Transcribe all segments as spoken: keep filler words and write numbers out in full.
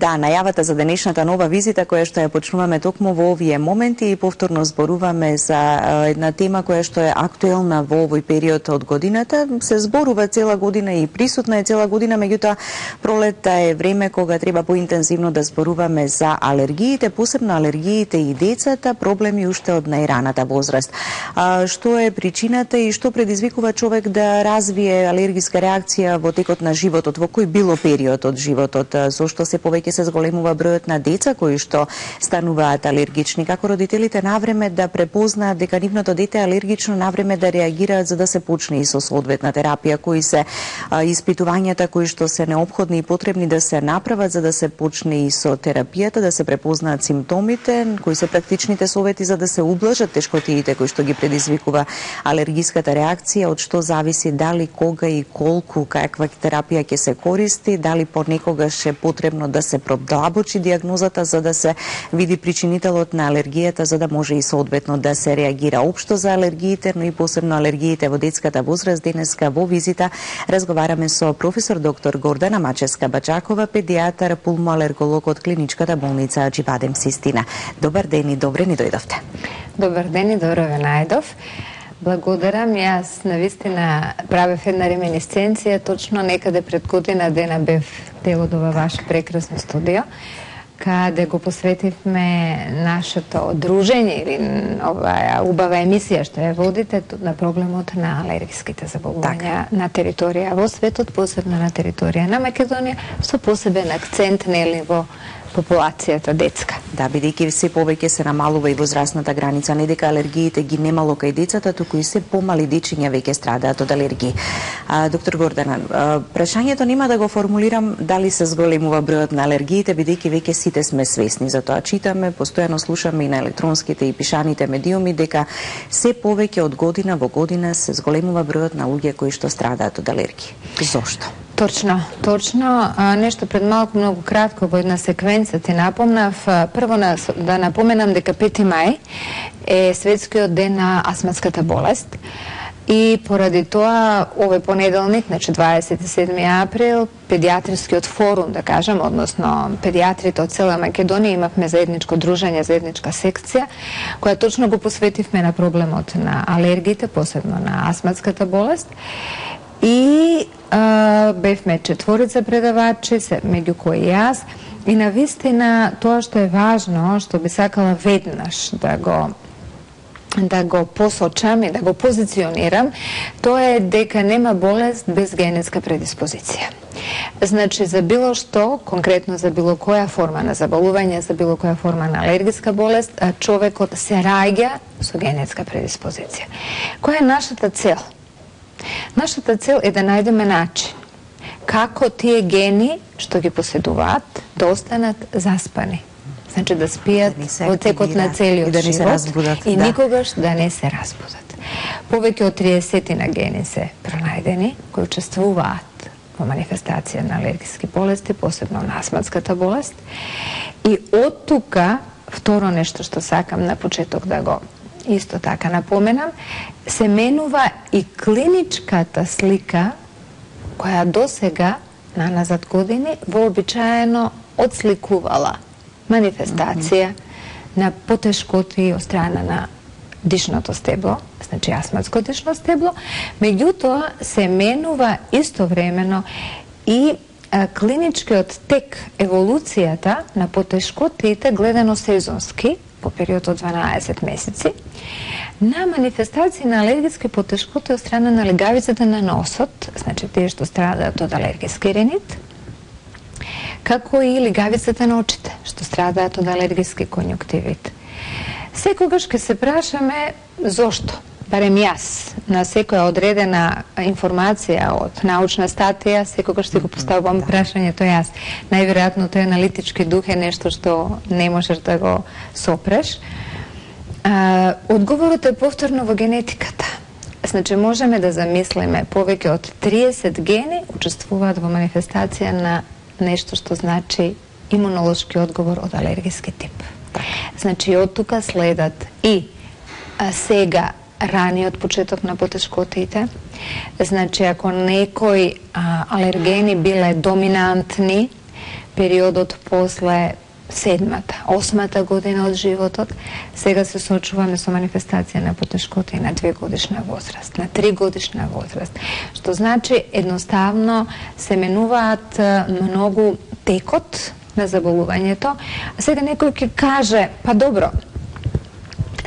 Да, најавата за денешната нова визита која што ја почнуваме токму во овие моменти и повторно зборуваме за една тема која што е актуелна во овој период од годината. Се зборува цела година и присутна е цела година, меѓутоа пролетта е време кога треба поинтензивно да зборуваме за алергиите, посебно алергиите и децата, проблеми уште од најраната возраст. А, што е причината и што предизвикува човек да развие алергиска реакција во текот на животот, во кој било период од животот? Зошто се повеќе се зголемува бројот на деца кои што стануваат алергични? Како родителите навреме да препознаат дека нивното дете е алергично, навреме да реагираат за да се почне и со соодветна терапија? Кои се а, испитувањата кои што се неопходни и потребни да се направат за да се почне и со терапијата, да се препознаат симптомите? Кои се практичните совети за да се ублажат тешкотиите кои што ги предизвикува алергиската реакција? Од што зависи дали, кога и колку каква терапија ќе се користи, дали понекогаш е потребно да се продлабочи дијагнозата за да се види причинителот на алергијата, за да може и соодветно да се реагира општо за алергиите, но и посебно алергиите во детската возраст. Денеска во визита разговараме со професор доктор Гордана Мачевска-Бачакова, педијатар, пулмоалерголог од клиничката болница Аџивадем Систина. Добар ден и добре ни дојдовте. Добар ден и добро ве најдов. Благодарам, јас навистина правев една реминисценција, точно некаде пред година дена бев дел од ова ваше прекрасно студио, каде го посветивме нашето дружење или оваа убава емисија што ја водите на проблемот на алергиските заболувања на територија во светот, посебно на територија на Македонија, со посебен акцент нели во популацијата детска. Да, бидејќи се повеќе се намалува и возрастната граница, не дека алергиите ги немало кај децата, туку и се помали дечиња веќе страдаат од алергии. А, доктор Гордана, а, прашањето нема да го формулирам дали се зголемува бројот на алергиите, бидејќи веќе сите сме свесни за тоа. Читаме, постојано слушаме и на електронските и пишаните медиуми дека се повеќе од година во година се зголемува бројот на луѓе кои што страдаат од алергии. Зошто? Точно, точно. А, нешто пред малку многу кратко во една секвенца ти напомнав. Прво на, да напоменам дека пети мај е светскиот ден на астматската болест. И поради тоа, овој понеделник, значи дваесет и седми април, педиатрискиот форум, да кажам, односно педиатрите од цела Македонија, имавме заедничко дружење, заедничка секција, која точно го посветивме на проблемот на алергиите, посебно на астматската болест. И а, бевме четворица предавачи, меѓу кои јас, и навистина тоа што е важно, што би сакала веднаш да го да го посочам и да го позиционирам, тоа е дека нема болест без генетска предиспозиција. Значи, за било што, конкретно за било која форма на заболување, за било која форма на алергиска болест, човекот се раѓа со генетска предиспозиција. Која е нашата цел? Нашата цел е да најдеме начин како тие гени што ги поседуваат да останат заспани. Значи да спијат да во текот на целиот и да не живот се разбудат, и да. никогаш да не се разбудат. Повеќе од триесет на гени се пронајдени кои учествуваат во манифестација на алергиски болести, посебно на астматската болест. И од тука, второ нешто што сакам на почеток да го исто така напоменам, се менува и клиничката слика која досега, на назад години, вообичаено одсликувала манифестација mm -hmm. на потешкоти од страна на дишното стебло, значи астматско дишно стебло, меѓутоа се менува истовремено и а, клиничкиот тек, еволуцијата на потешкотите гледано сезонски, по период од дванаесет месеци, на манифестации на алергиски потешкоти од страна на легавицата на носот, значи тие што страдаат од алергиски ринит, како и легавицата на очите, што страдаат од алергиски конјуктивит. Секогаш ке се прашаме зошто, барем јас, на секоја одредена информација од научна статија, секогаш си го поставувам прашањето јас. Најверојатно тој аналитички дух е нешто што не можеш да го сопреш. А, одговорот е повторно во генетиката. Значи, можеме да замислиме повеќе од триесет гени учествуваат во манифестација на нешто што значи имунолошки одговор од алергиски тип. Значи, од тука следат и а, сега раниот почеток на потешкотите. Значи, ако некои а, алергени биле доминантни, периодот после седмата, осмата година од животот, сега се соочуваме со манифестација на потешкоти на две годишна возраст, на три годишна возраст, што значи едноставно се менуваат многу текот на заболувањето. А сега некој ќе каже, па добро,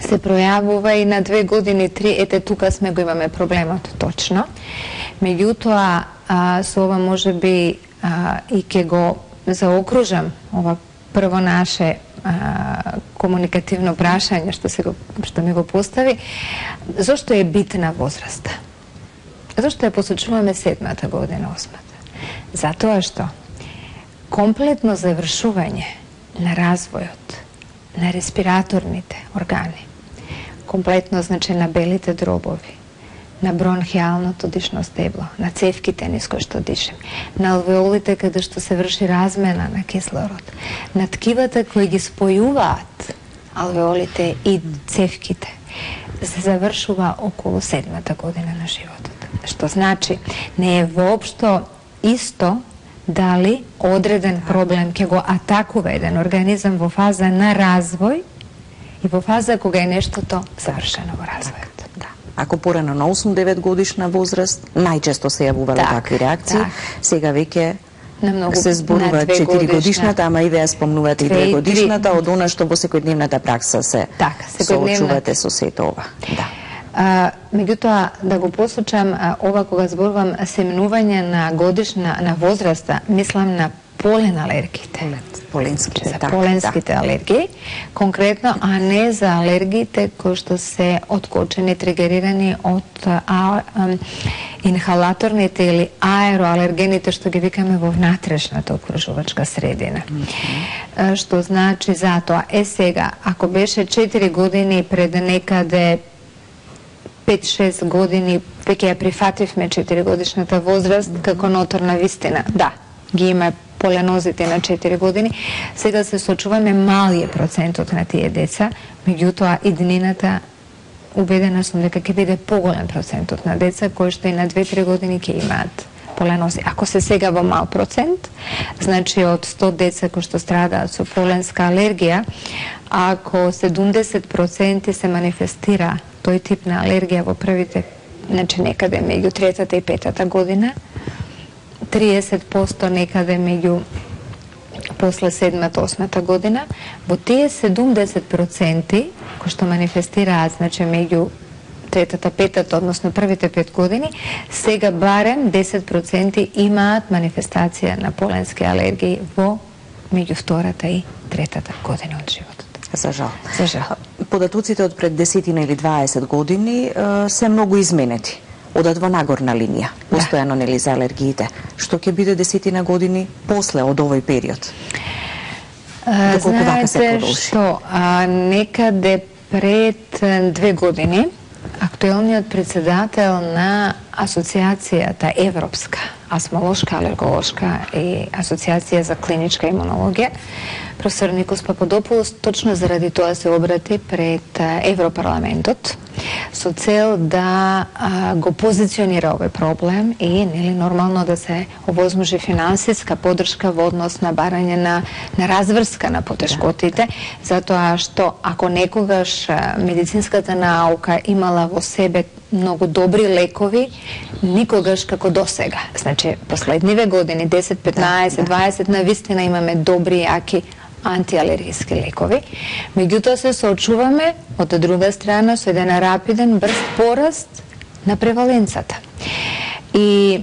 се пројавува и на две години, три, ете тука сме го имаме проблемот, точно. Меѓутоа, а, со ова може би а, и ќе го заокружам ова прво наше а, комуникативно прашање што, се го, што ми го постави. Зошто е битна возраста? Зошто ја посочуваме седмата година, осмата? Затоа што комплетно завршување на развојот на респираторните органи, комплетно значи на белите дробови, на бронхиалното дишно стебло, на цевките низ кои што дишем, на алвеолите каде што се врши размена на кислород, на ткивата кои ги спојуваат алвеолите и цевките, се завршува околу седмата година на животот. Што значи, не е воопшто исто дали одреден проблем ќе го атакува еден организам во фаза на развој и во фаза кога е нештото завршено во развојот. Да. Ако порано на осум-девет годишна возраст, најчесто се јавувале так, такви реакции, так. Сега веќе многу, се зборува четири годишната, ама и веќе спомнувате и две годишната, од она што во секојдневната пракса се так, соочувате со сето ова. Да. А, меѓутоа, да го посочам, а, ова кога зборувам семнување на годишна, на возраста, мислам на полен алергиите. Поленските, за так, поленските да. алергии, конкретно, а не за алергиите кои што се откочени, тригерирани од а, а, инхалаторните или аероалергените што ги викаме во внатрешната окружувачка средина. Mm -hmm. Што значи затоа, е сега, ако беше четири години пред некаде пет-шест години, веќе ја прифативме четири годишната возраст како ноторна вистина. Да, ги има поленозите на четири години. Сега се сочуваме малије процентот на тие деца, меѓутоа иднината убедена сум дека ќе биде поголем процентот на деца кои што и на две-три години ќе имаат поленози. Ако се сега во мал процент, значи од сто деца кои што страдаат со поленска алергија, ако седумдесет проценти се манифестира тој тип на алергија во првите, значи некаде меѓу третата и петата година, триесет проценти некаде меѓу после седмата, осмата година, во тие седумдесет проценти кои што манифестираат, значи меѓу третата, петата, односно првите пет години, сега барем десет проценти имаат манифестација на поленски алергии во меѓу втората и третата година од животот. За жал. За жал. Податоците од пред десетина или дваесет години се многу изменети. Одат во нагорна линија, постојано да. Нели за алергиите. Што ќе биде десетина години после од овој период? Доколку вака се продолжи? Знаете што, а, некаде пред две години актуелниот председател на Асоциацијата Европска, астмолошка, алерголошка и Асоциација за клиничка имунологија, професор Никос Пападопулос, точно заради тоа се обрати пред Европарламентот со цел да а, го позиционира овој проблем и нели нормално да се овозможи финансиска поддршка во однос на барање на, на разврска на потешкотите, затоа што ако некогаш медицинската наука имала во себе многу добри лекови, никогаш како досега. Значи, последниве години, десет, петнаесет, дваесет, навистина имаме добри, јаки антиалергиски лекови. Меѓутоа се соочуваме од друга страна со еден рапиден, брз пораст на преваленцата. И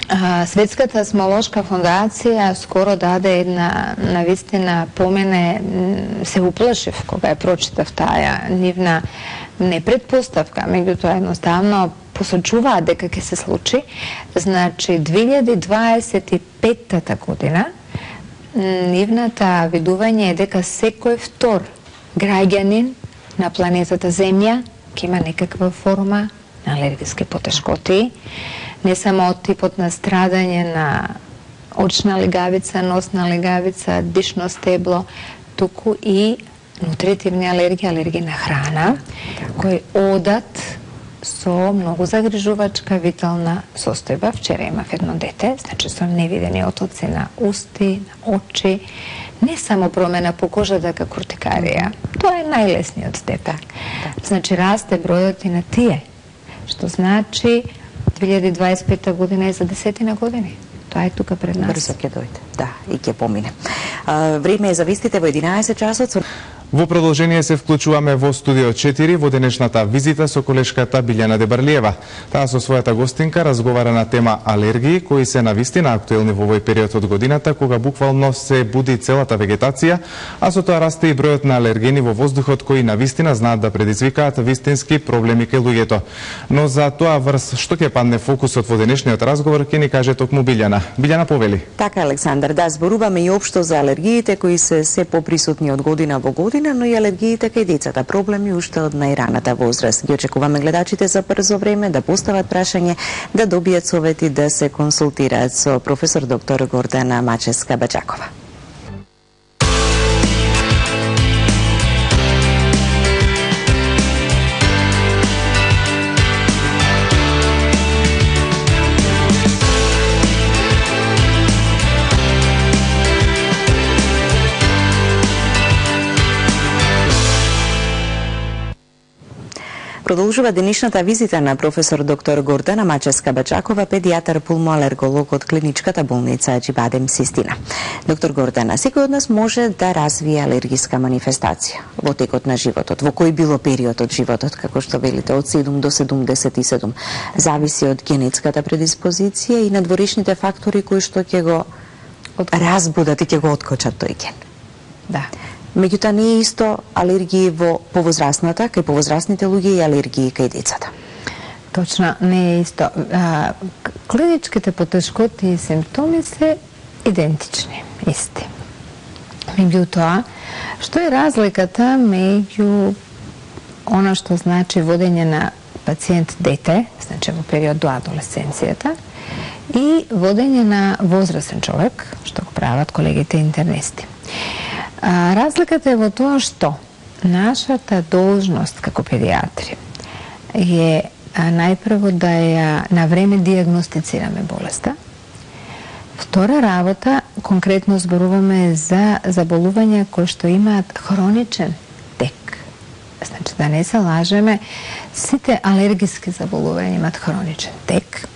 а, Светската астмолошка фондација скоро даде една, навистина, помене, се уплашив кога ја прочитав таа нивна не предпоставка, меѓутоа едноставно посочуваат дека ќе се случи. Значи, две илјади дваесет и петата година нивната видување е дека секој втор граѓанин на планетата Земја ќе има некаква форма на алергиски потешкоти, не само од типот на страдање на очна легавица, носна легавица, дишно стебло, туку и нутритивни алергии, алергии на храна, кои одат со многу загрижувачка витална состојба. Вчера имав едно дете, значи со невидени отоци на усти, на очи, не само промена по кожата како уртикарија. Тоа е најлесниот степен. Значи расте бројот и на тие, што значи две илјади дваесет и пета година е за десетина години. Тоа е тука пред нас. Брзо ќе дојде, да, и ќе помине. А, време е за вестите во единаесет часот. Во продолжение се вклучуваме во студио четири во денешната визита со колешката Билјана Дебарлиева. Таа со својата гостинка разговара на тема алергии, кои се навистина актуелни во овој период од годината, кога буквално се буди целата вегетација, а со тоа расте и бројот на алергени во воздухот, кои навистина знаат да предизвикаат вистински проблеми кај луѓето. Но за тоа врз што ќе падне фокусот во денешниот разговор, ќе ни каже токму Билјана. Билјана, повели. Така, Александар, да, зборуваме и општо за алергиите кои се се поприсутни од година во година, но и алергиите кај децата, проблеми уште од најраната возраст. Ги очекуваме гледачите за брзо време да постават прашање, да добијат совети, да се консултираат со професор доктор Гордана Мачевска-Баџакова. Продолжува денешната визита на професор доктор Гордана Мачевска-Баџакова, педијатар пулмоалерголог од клиничката болница Аџибадем Систина. Доктор Гордана, секој од нас може да развие алергиска манифестација во текот на животот, во кој било период од животот, како што велите, од седум до седумдесет и седум. Зависи од генетската предиспозиција и надворешните фактори кои што ќе го разбудат и ќе го откочат тој ген. Да. Меѓутоа не е исто алергии во повозрасната, кај повозрасните луѓе и алергии кај децата. Точно, не е исто. А, клиничките потешкоти и симптоми се идентични, исти. Меѓутоа, што е разликата меѓу она што значи водење на пациент дете, значи во период до адолесценцијата, и водење на возрастен човек, што го прават колегите интернисти. А, разликата е во тоа што нашата должност како педиатри е а, најпрво да ја на време диагностицираме болеста. Втора работа, конкретно зборуваме за заболувања кои што имаат хроничен тек. Значи да не се лажеме, сите алергиски заболувања имаат хроничен тек,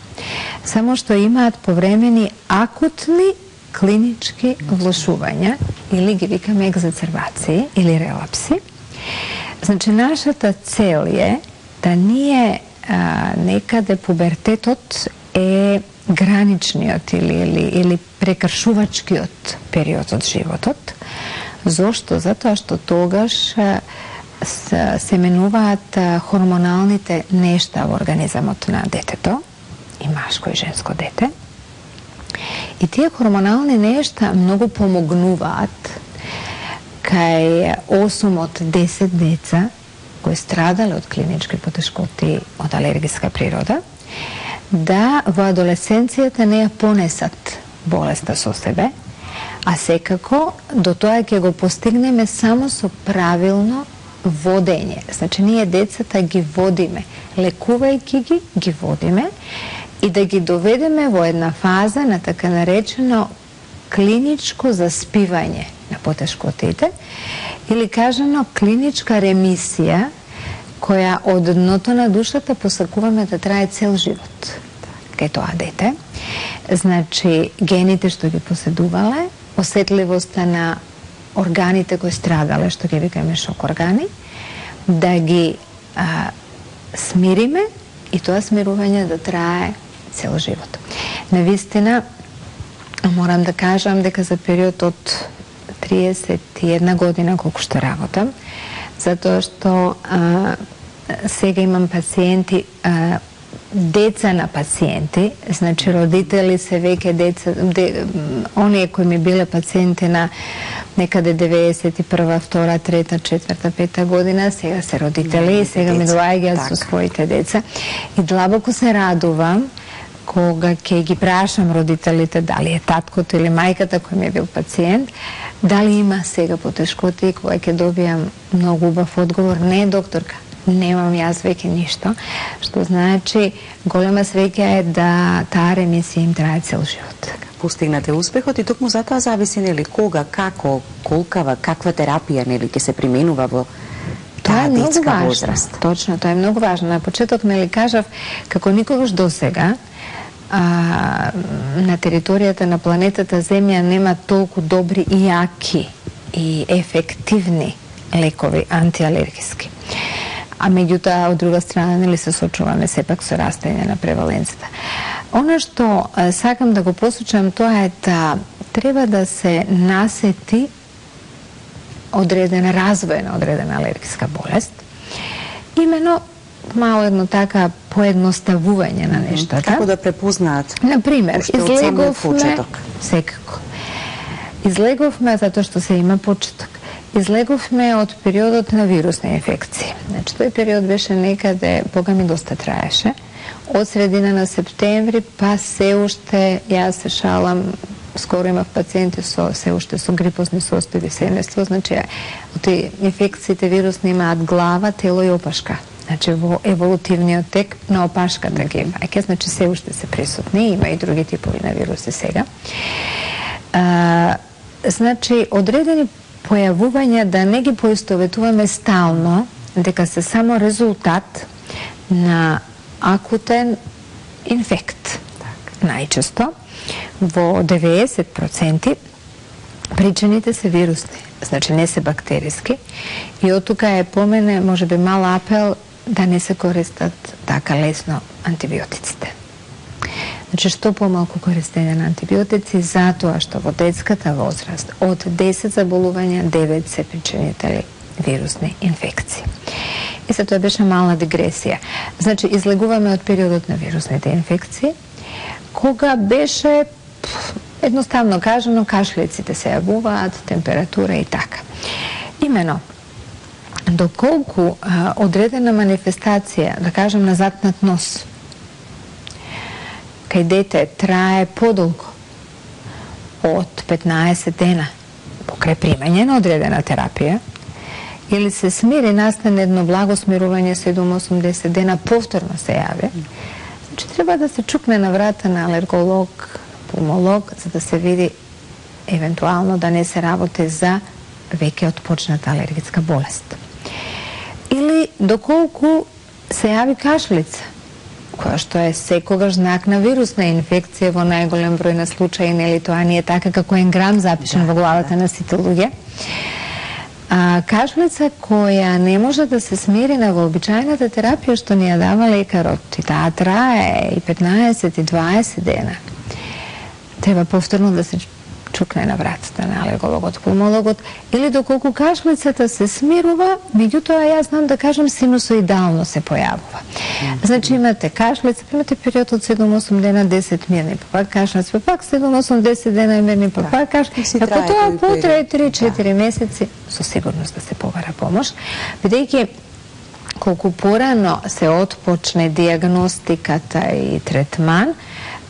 само што имаат повремени акутни клинички влошувања, или ги викаме екзацербации или релапси. Значи, нашата цел е да ние а, некаде пубертетот е граничниот или, или, или прекршувачкиот период од животот. Зошто? Затоа што тогаш а, с, се менуваат а, хормоналните нешта во организамот на детето, и машко и женско дете. И тие хормонални нешта многу помогнуваат кај осум од десет деца кои страдале од клинички потешкоти од алергиска природа, да во адолесценцијата не ја понесат болеста со себе, а секако до тоа ќе го постигнеме само со правилно водење. Значи, ние децата ги водиме, лекувајќи ги, ги водиме, и да ги доведеме во една фаза на така наречено клиничко заспивање на потешкотите, или кажано клиничка ремисија, која од дното на душата посакуваме да трае цел живот кај тоа дете. Значи, гените што ги поседувале, осетливоста на органите кои страдале, што ги викаме шок органи, да ги а, смириме и тоа смирување да трае цел живот. Навистина, морам да кажам дека за период од триесет и една година колку што работам, затоа што а, сега имам пациенти, а, деца на пациенти, значи родители се веќе деца, де, оние кои ми биле пациенти на некаде деветдесет и прва, втора, трета, четврта, пета година, сега се родители и сега ми доаѓаат со своите деца. И длабоко се радувам кога ќе ги прашам родителите дали е таткото или мајката кој ми е бил пациент, дали има сега потешкоти, и кога ќе добијам многу убав одговор: не, докторка, немам јас веќе ништо, што значи голема среќа е да таа ремисија им трае цел живот. Постигнате успехот и токму затоа зависи нели кога, како, колкава, каква терапија нели ќе се применува во тоа е многу детска важно. возраст. Точно, тоа е многу важно. На почеток нели кажав како никогаш досега а, на територијата на планетата Земја нема толку добри и јаки и ефективни лекови антиалергиски. А меѓутоа, од друга страна, нели се сочуваме сепак со растење на преваленцията. Оно што а, сакам да го посочам, тоа е да треба да се насети одредена развој на одредена алергиска болест. Имено мало едно така поедноставување на нештата. Како да препознаат? Например, уште од самиот излеговме, почеток. секако. Излеговме затоа што се има почеток. Излеговме од периодот на вирусни инфекции. Значи, тој период беше некаде, бога ми доста траеше, од средина на септември, па се уште, јас се шалам, скоро имав пациенти со се уште со грипозни состојби семејство, значи од инфекциите вирусни имаат глава, тело и опашка. Значи во еволутивниот тек на опашката ги имајќи, значи се уште се присутни, има и други типови на вируси сега. А, значи одредени појавувања да не ги поистоветуваме стално, дека се само резултат на акутен инфект. Најчесто во деветдесет проценти причините се вирусни, значи не се бактериски, и од тука е по мене можеби мал апел да не се користат така лесно антибиотиците. Значи, што помалку користење на антибиотици, затоа што во детската возраст од десет заболувања, девет се причинители вирусни инфекции. И се тоа беше мала дигресија. Значи, излегуваме од периодот на вирусните инфекции, кога беше, едноставно кажано, кашлиците се јавуваат, температура и така. Имено, доколку а, одредена манифестација, да кажем, на затнат нос, кај дете трае подолго од петнаесет дена покрај примање на одредена терапија, или се смири, настане едно благо смирување седум до осумдесет дена, повторно се јави, значи треба да се чукне на врата на алерголог, пулмолог, за да се види евентуално да не се работи за веќе отпочната алергичка болест. Или доколку се јави кашлица, која што е секогаш знак на вирусна инфекција во најголем број на случаи, нели тоа не е така како енграм запишен да, во главата да. на сите луѓе. А, кашлица која не може да се смири на вообичајната терапија што ни ја дава лекарот, и таа трае и петнаесет и дваесет дена, треба повторно да се чукне на вратата на алергологот, пулмологот, или доколку кашлицата се смирува, меѓутоа јас знам да кажам синусоидално се појавува. Mm-hmm. Значи имате кашлица, имате период од седум до осум дена, десет мирни, па пак кашлица, па пак седум до осум десет дена мирни, па пак кашлица. Ако тоа потрае три-четири да. месеци, со сигурност да се побара помош, бидејќи колку порано се отпочне диагностиката и третман,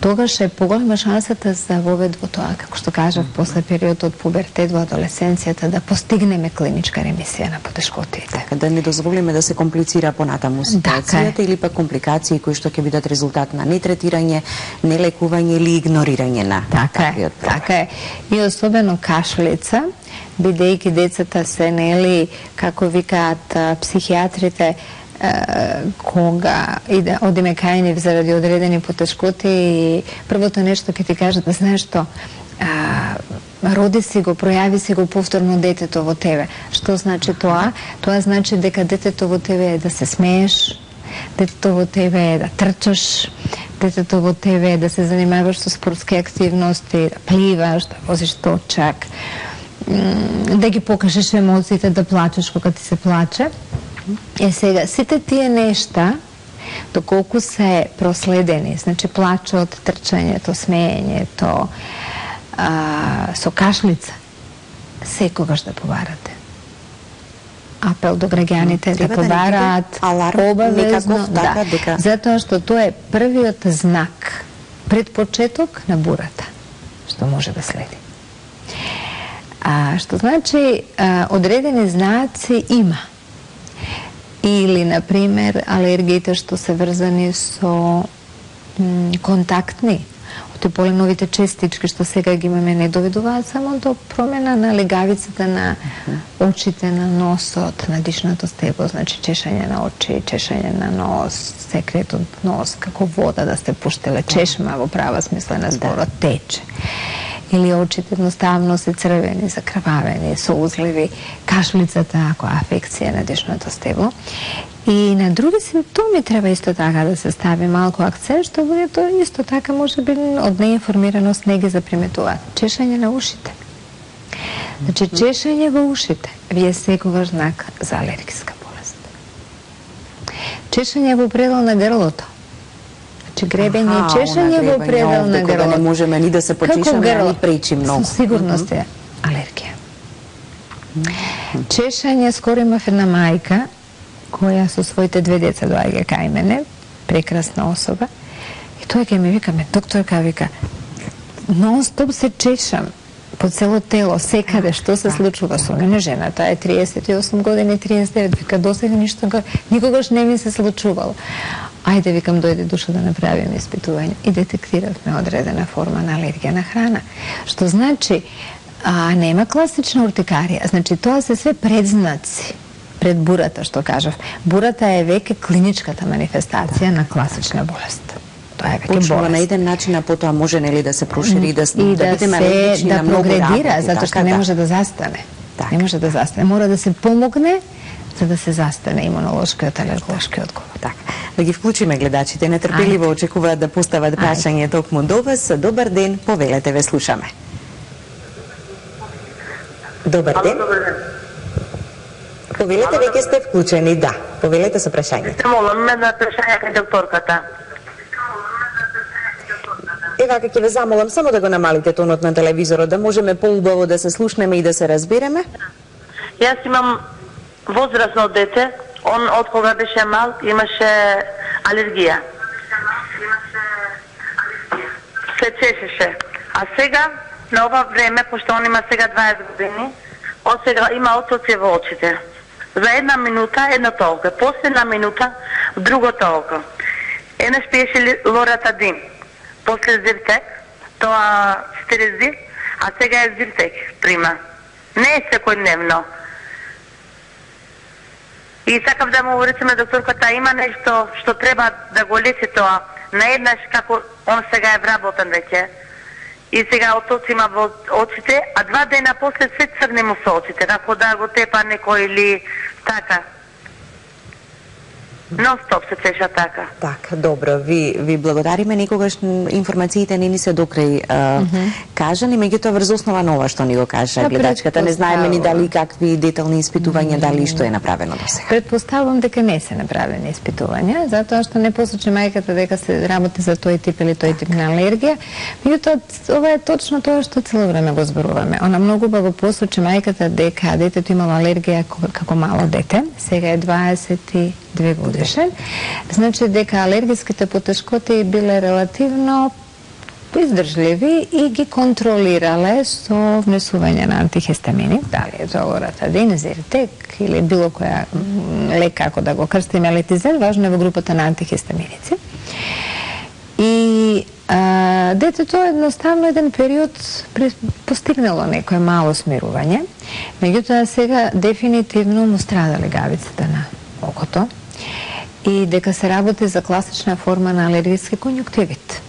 тогаш е поголема шансата за вовед во тоа, како што кажав, после период од пубертет во адолесценцијата, да постигнеме клиничка ремисија на потешкотиите. Така, да не дозволиме да се комплицира понатаму ситуацијата, или пак компликации кои што ќе бидат резултат на нетретирање, нелекување или игнорирање на таквиот проблем. Така е. И особено кашлица, бидејќи децата се, нели, како викаат психијатрите, кога иде, одиме кај нив заради одредени потешкоти, и првото нешто ќе ти кажат, знаеш што, а, роди си го, пројави си го повторно детето во тебе. Што значи тоа? Тоа значи дека детето во тебе е да се смееш, детето во тебе е да трчаш, детето во тебе е да се занимаваш со спортски активности, да пливаш, да возиш точак, да ги покажеш емоциите, да плачеш кога ти се плаче. Е сега, сите тие нешта, доколку се проследени, значи плачот, трчањето, смеењето, а, со кашлица, секогаш да побарате. Апел до граѓаните да побараат обавезно, да, дека... затоа што тоа е првиот знак, предпочеток на бурата, што може да следи. А, што значи, а, одредени знаци има. Или, на пример, алергиите што се врзани со м, контактни, оти поленовите честички што сега ги имаме, не доведуваат само до промена на легавицата на очите, на носот, на дишното стебло, значи чешање на очи, чешање на нос, секрет од нос, како вода да сте пуштеле, чешма во права смисла на зборот, тече. Или очите едноставно се црвени, закрвавени, со узливи, кашлицата, ако афекција на дишното стебло. И на други симптоми треба исто така да се стави малку акцент, што луѓето исто така може би од неинформираност не ги заприметуваат. Чешање на ушите. Значи, чешање во ушите ви е секогаш знак за алергиска болест. Чешање во предел на грлото. Значи, гребење и чешање во предел на грлото. Да не можеме ни да се почешаме, а ни пречи многу. Со сигурност е алергија. Чешање, скоро имав една мајка која со своите две деца доаѓа кај мене, прекрасна особа, и тој ќе ми вика, ме докторка, вика, нон-стоп се чешам по цело тело, секаде, што се случува со мене, жената е триесет и осум години, триесет и девет, вика, досега ништо, никогаш не ми се случувало. Ајде, викам, дојде душа да направиме испитување. И детектиравме одредена форма на алергија на храна. Што значи, а, нема класична уртикарија, значи тоа се све предзнаци пред бурата, што кажав. Бурата е веќе клиничката манифестација на класична болест. Тоа е веќе почнува болест. на еден начин, а потоа може нели да се прошири и да, и да, да бидеме се алергични да на многу прогредира, работи, затоа што така, не да. може да застане. Так. Не може да застане. Мора да се помогне за да се застане имунолошкиот, алерголошкиот одговор. Така. Да ги вклучиме гледачите, нетрпеливо очекуваат да постават прашање токму до вас. Добар ден, повелете, ве слушаме. Добар ден. Повелете, веќе сте вклучени, да. Повелете со прашањето. Се молам, ме на прашање кај докторката. Ева, ќе ве замолам само да го намалите тонот на телевизорот, да можеме поубаво да се слушнеме и да се разбереме. Јас имам возрасно дете, он од кога беше мал имаше алергија. Се чешеше. А сега, на ова време, пошто он има сега дваесет години, он сега има отоци во очите. За една минута, една толка. После една минута, друго толка. Еднаш пиеше лоратадин. После зиртек, тоа стерези, а сега е зиртек прима. Не е секојдневно. И сакав да му речеме докторката, има нешто што треба да го лечи тоа. Наеднаш како он сега е вработен веќе. И сега отоци има во очите, а два дена после се црне му со очите, како да го тепа некој или така. Нон-стоп се чеша така. Така, добро, ви, ви благодариме. Никогаш информациите не ни се докрај а, mm -hmm. кажани, меѓутоа врз основа на ова што ни го кажа да, гледачката. Не знаеме ни дали какви детални испитувања, mm -hmm. дали што е направено до сега. Предпоставувам дека не се направени испитувања, затоа што не посочи мајката дека се работи за тој тип или тој тип на алергија. Меѓутоа, ова е точно тоа што цело време го зборуваме. Она многу убаво посочи мајката дека детето имало алергија како мало дете, сега е дваесет и две годишен, значи дека алергиските потешкоти биле релативно издржливи и ги контролирале со внесување на антихистамини, дали е за лоратадин, зиртек или било која лек, како да го крстиме, летизен, важно е во групата на антихистаминици. И а, детето едноставно еден период постигнало некое мало смирување, меѓутоа сега дефинитивно му страда легавицата на окото и дека се работи за класична форма на алергиски конјуктивит.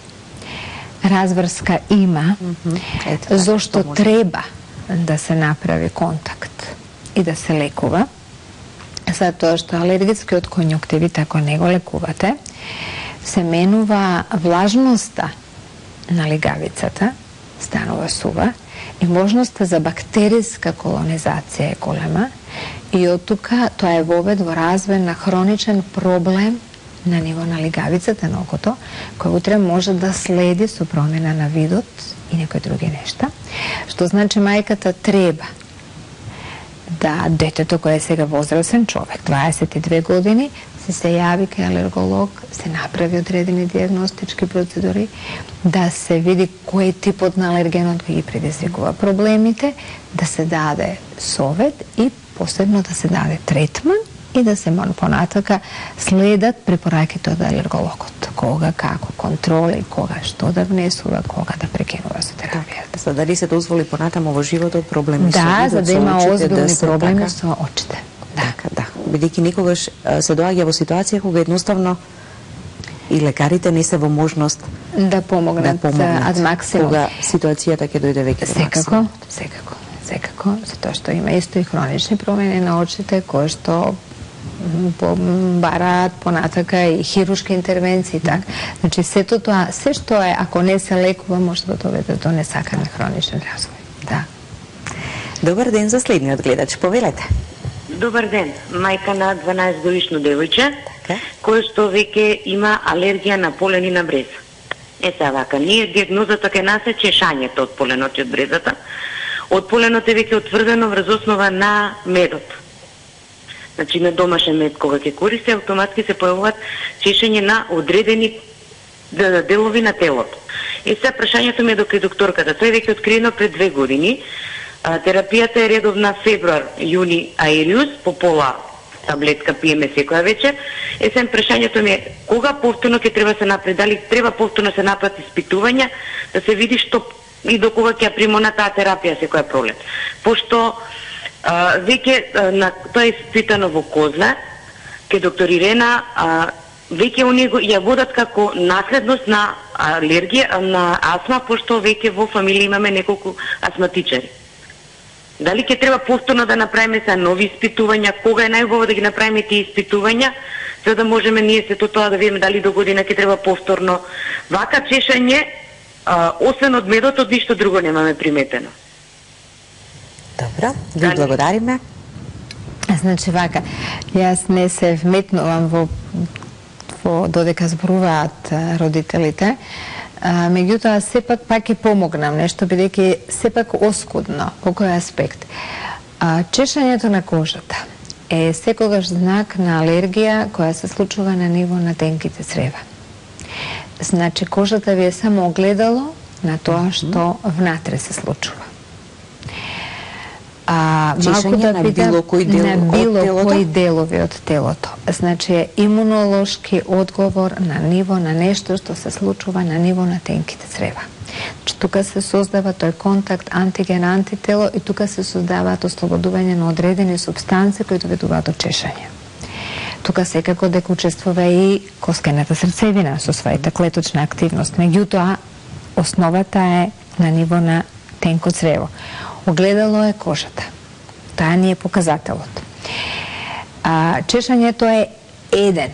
Разврска има, mm -hmm. Ето, зошто може... треба да се направи контакт и да се лекува, затоа што алергискиот конјуктивит, ако не го лекувате, се менува влажноста на легавицата, станува сува, и можноста за бактериска колонизација е голема, и од тука тоа е вовед во развој на хроничен проблем на ниво на легавицата на окото, кој утре може да следи со промена на видот и некои други нешта, што значи мајката треба да детето кој е сега возрасен човек, дваесет и две години, се се јави кај алерголог, се направи одредени диагностички процедури, да се види кој типот на алергенот кој ги предизвикува проблемите, да се даде совет и посебно да се даде третман и да се понатака следат препораките од алергологот. Кога, како, контроли, кога, што да внесува, кога да прекинува со терапијата. За дали се дозволи понатаму во животот проблеми со да, видот, за да има озбилни да проблеми така, со очите. Да. Така, да. Бидејќи никогаш се доаѓа во ситуација кога едноставно и лекарите не се во можност да помогнат, да помогнат ад максимум. Кога ситуацијата ќе дојде веќе до максимум. Секако, секако, секако, затоа што има исто и хронични промени на очите кои што бараат понатака и хируршки интервенции, так. Значи сето тоа, се што е, ако не се лекува, може да доведе до несакани хроничен развој. Да. Добар ден за следниот гледач, повелете. Добар ден, мајка на дванаесет годишно девојче, така, кој што веќе има алергија на полен и на бреза. Е сега вака, ние диагнозата кај нас е чешањето од поленот и од брезата. Од поленот е веќе утврдено врз основа на медот. Значи на домашен мед кога ќе користи, автоматски се појавуваат чешање на одредени делови на телото. Е сега прашањето ми е до кај докторката. Тој веќе откриено пред две години. Терапијата е редовна февруар, јуни, аериус, по пола таблетка пиеме секоја вечер. Е сега прашањето ми е кога повторно ќе треба се направи, дали треба повторно се направат испитувања да се види што и до кога ќе примона таа терапија секоја пролет. Пошто а, веќе а, на тоа е испитано во Козле, ке доктор Ирена, а, веќе оние ја водат како наследност на алергија, на астма, пошто веќе во фамилија имаме неколку астматичари. Дали ќе треба повторно да направиме се нови испитувања, кога е најубаво да ги направиме тие испитувања, за да можеме ние сето тоа да видиме дали до година ќе треба повторно. Вака чешање, а, освен од медот, ништо друго немаме приметено. Добро, ви благодариме. Значи вака, јас не се вметнувам во, во додека зборуваат родителите, а, меѓутоа сепак пак ќе помогнам нешто, бидејќи сепак оскудно по кој аспект. А, чешањето на кожата е секогаш знак на алергија која се случува на ниво на тенките црева. Значи кожата ви е само огледало на тоа што внатре се случува. А, чешање да на питам, било кој дел на било од телото? кои делови од телото. Значи имунолошки одговор на ниво на нешто што се случува на ниво на тенките црева. Значи тука се создава тој контакт антиген-антитело и тука се создаваат ослободување на одредени супстанции кои доведуваат до чешање. Тука секако дека учествува и коскената срцевина со својата клеточна активност. Меѓутоа, основата е на ниво на тенко црево. Огледало е кожата. Таа ни е показателот. А, чешањето е еден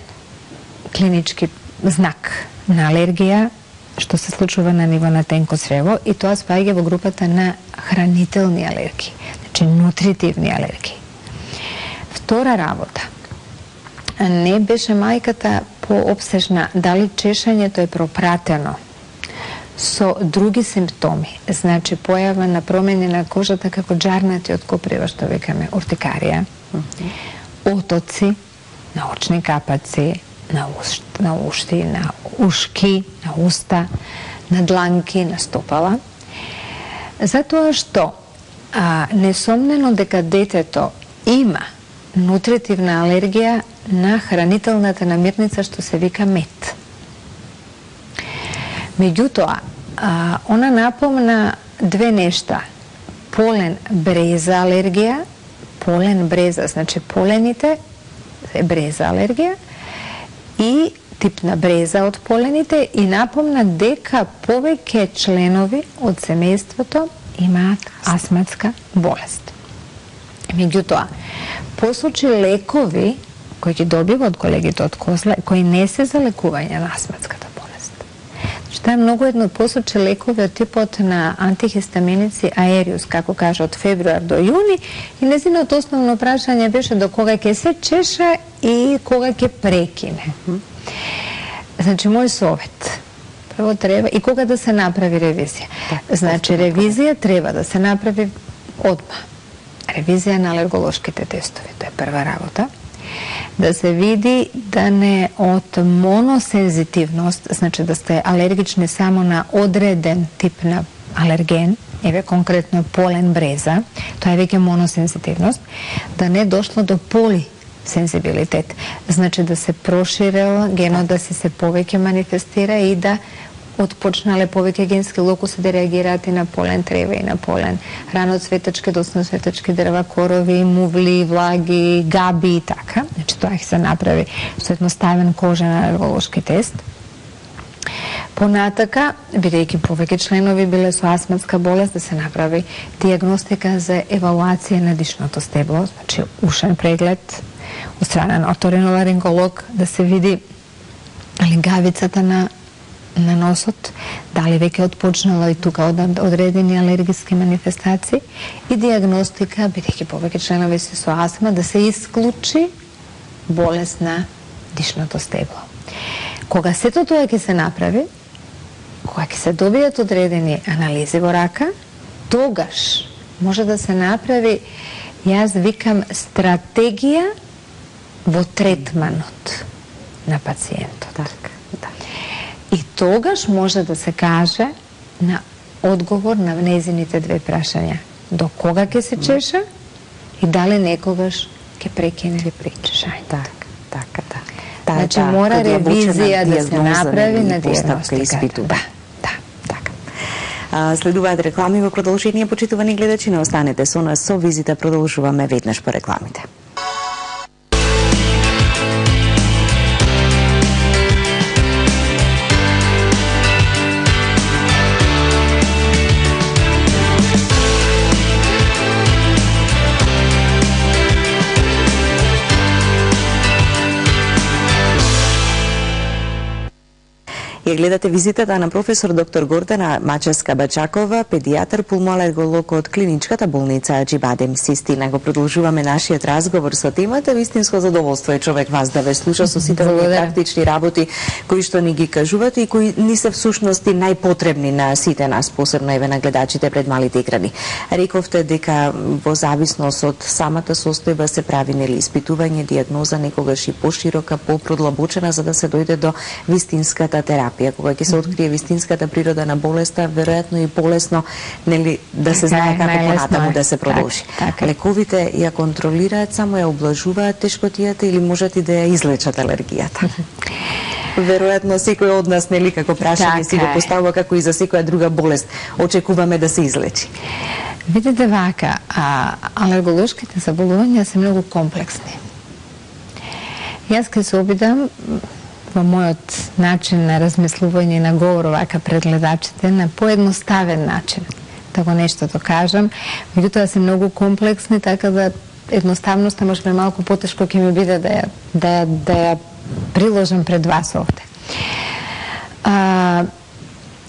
клинички знак на алергија што се случува на ниво на тенко црево и тоа спаѓа во групата на хранителни алергии, значи нутритивни алергии. Втора работа. Не беше мајката пообсежна дали чешањето е пропратено со други симптоми, значи појава на промени на кожата како џарнати од коприва, што викаме уртикарија, отоци на очни капаци, на, уш, на ушти, на ушки, на уста, на дланки, на стопала. Затоа што а, несомнено дека детето има нутритивна алергија на хранителната намирница што се вика мед. Меѓутоа, а, она напомна две нешта. Полен бреза алергија, полен бреза, значи полените е бреза алергија и тип на бреза од полените и напомна дека повеќе членови од семејството имаат астматска болест. Меѓутоа, посочи лекови кои ги добива од колегите од Козле, кои не се за лекување на астматската болест. Што е многу едно посочи лекови од типот на антихистаминици аериус, како кажа, од февруар до јуни, и незиното основно прашање беше до кога ќе се чеша и кога ќе прекине. Значи, мој совет, прво треба, и кога да се направи ревизија. Значи, ревизија треба да се направи одма. Ревизија на алерголошките тестови, тоа е прва работа. Да се види да не од моносензитивност, значи да сте алергични само на одреден тип на алерген, еве конкретно полен бреза, тоа е веќе моносензитивност, да не дошло до поли сензибилитет. Значи да се проширила генот, да се се повеќе манифестира и да отпочнале повеќе генски локуси да реагираат и на полен трева и на полен раноцветачки, доцноцветачки дрва, корови, мувли, влаги, габи и така. Значи тоа ќе се направи со едноставен кожен алерголошки тест. Понатака, бидејќи повеќе членови биле со астматска болест, да се направи диагностика за евалуација на дишното стебло, значи ушен преглед од страна на оториноларинголог, да се види али гавицата на на носот, дали веќе отпочнала и тука одредени алергиски манифестации и диагностика, бидејќи повеќе членови се со астма, да се исклучи болест на дишното стебло. Кога сето тоа ќе се направи, кога ќе се добијат одредени анализи во рака, тогаш може да се направи, јас викам, стратегија во третманот на пациентот. Така, да. И тогаш може да се каже на одговор на незините две прашања. До кога ќе се чеша и дали некогаш ќе прекине или причешање. Така, така, да. Значи мора ревизија да се направи на диагностика. Да, да, така. А, следуваат реклами во продолжение, почитувани гледачи, не останете со нас, со визита продолжуваме веднаш по рекламите. Ја гледате визитата на професор доктор Гордана Мачевска-Бачакова, педијатар пулмоалерголог од клиничката болница Аџибадем Систина. Го продолжуваме нашиот разговор со темата. Вистинско задоволство е човек вас да ве слуша со сите овие практични работи кои што ни ги кажувате и кои ни се всушност и најпотребни на сите нас, посебно еве на гледачите пред малите екрани. Рековте дека во зависност од самата состојба се прави нели испитување, дијагноза, некогаш и поширока, поproдлабочена за да се дојде до вистинската терапија. Кога ќе се открие вистинската природа на болеста, веројатно и полесно нели да се знае како понатаму да се продолжи. Так, так. Лековите ја контролираат, само ја облажуваат тешкотијата или можат и да ја излечат алергијата? Веројатно секој од нас нели како прашање си го поставува, како и за секоја друга болест очекуваме да се излечи. Видите вака, а, алерголошките заболувања се многу комплексни. Јас ке се обидам во мојот начин на размислување и на говор вака пред гледачите на поедноставен начин да го нешто да кажам, меѓутоа се многу комплексни, така да едноставноста може би малку потешко ќе ми биде да ја, да ја, да ја приложам пред вас овде. А,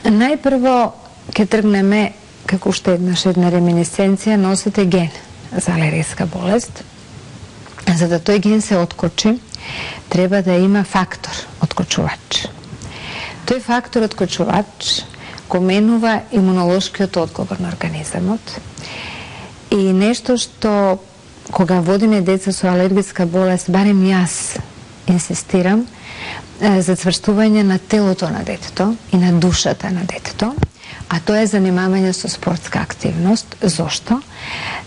најпрво ќе тргнеме како уште еднаш една реминисценција, носите ген за алергиска болест. За да тој ген се откочи, треба да има фактор откочувач. Тој фактор откочувач го менува имунолошкиот одговор на организамот и нешто што кога водиме деца со алергиска болест, барем јас инсистирам за цврстување на телото на детето и на душата на детето, а тоа е занимавање со спортска активност. Зошто?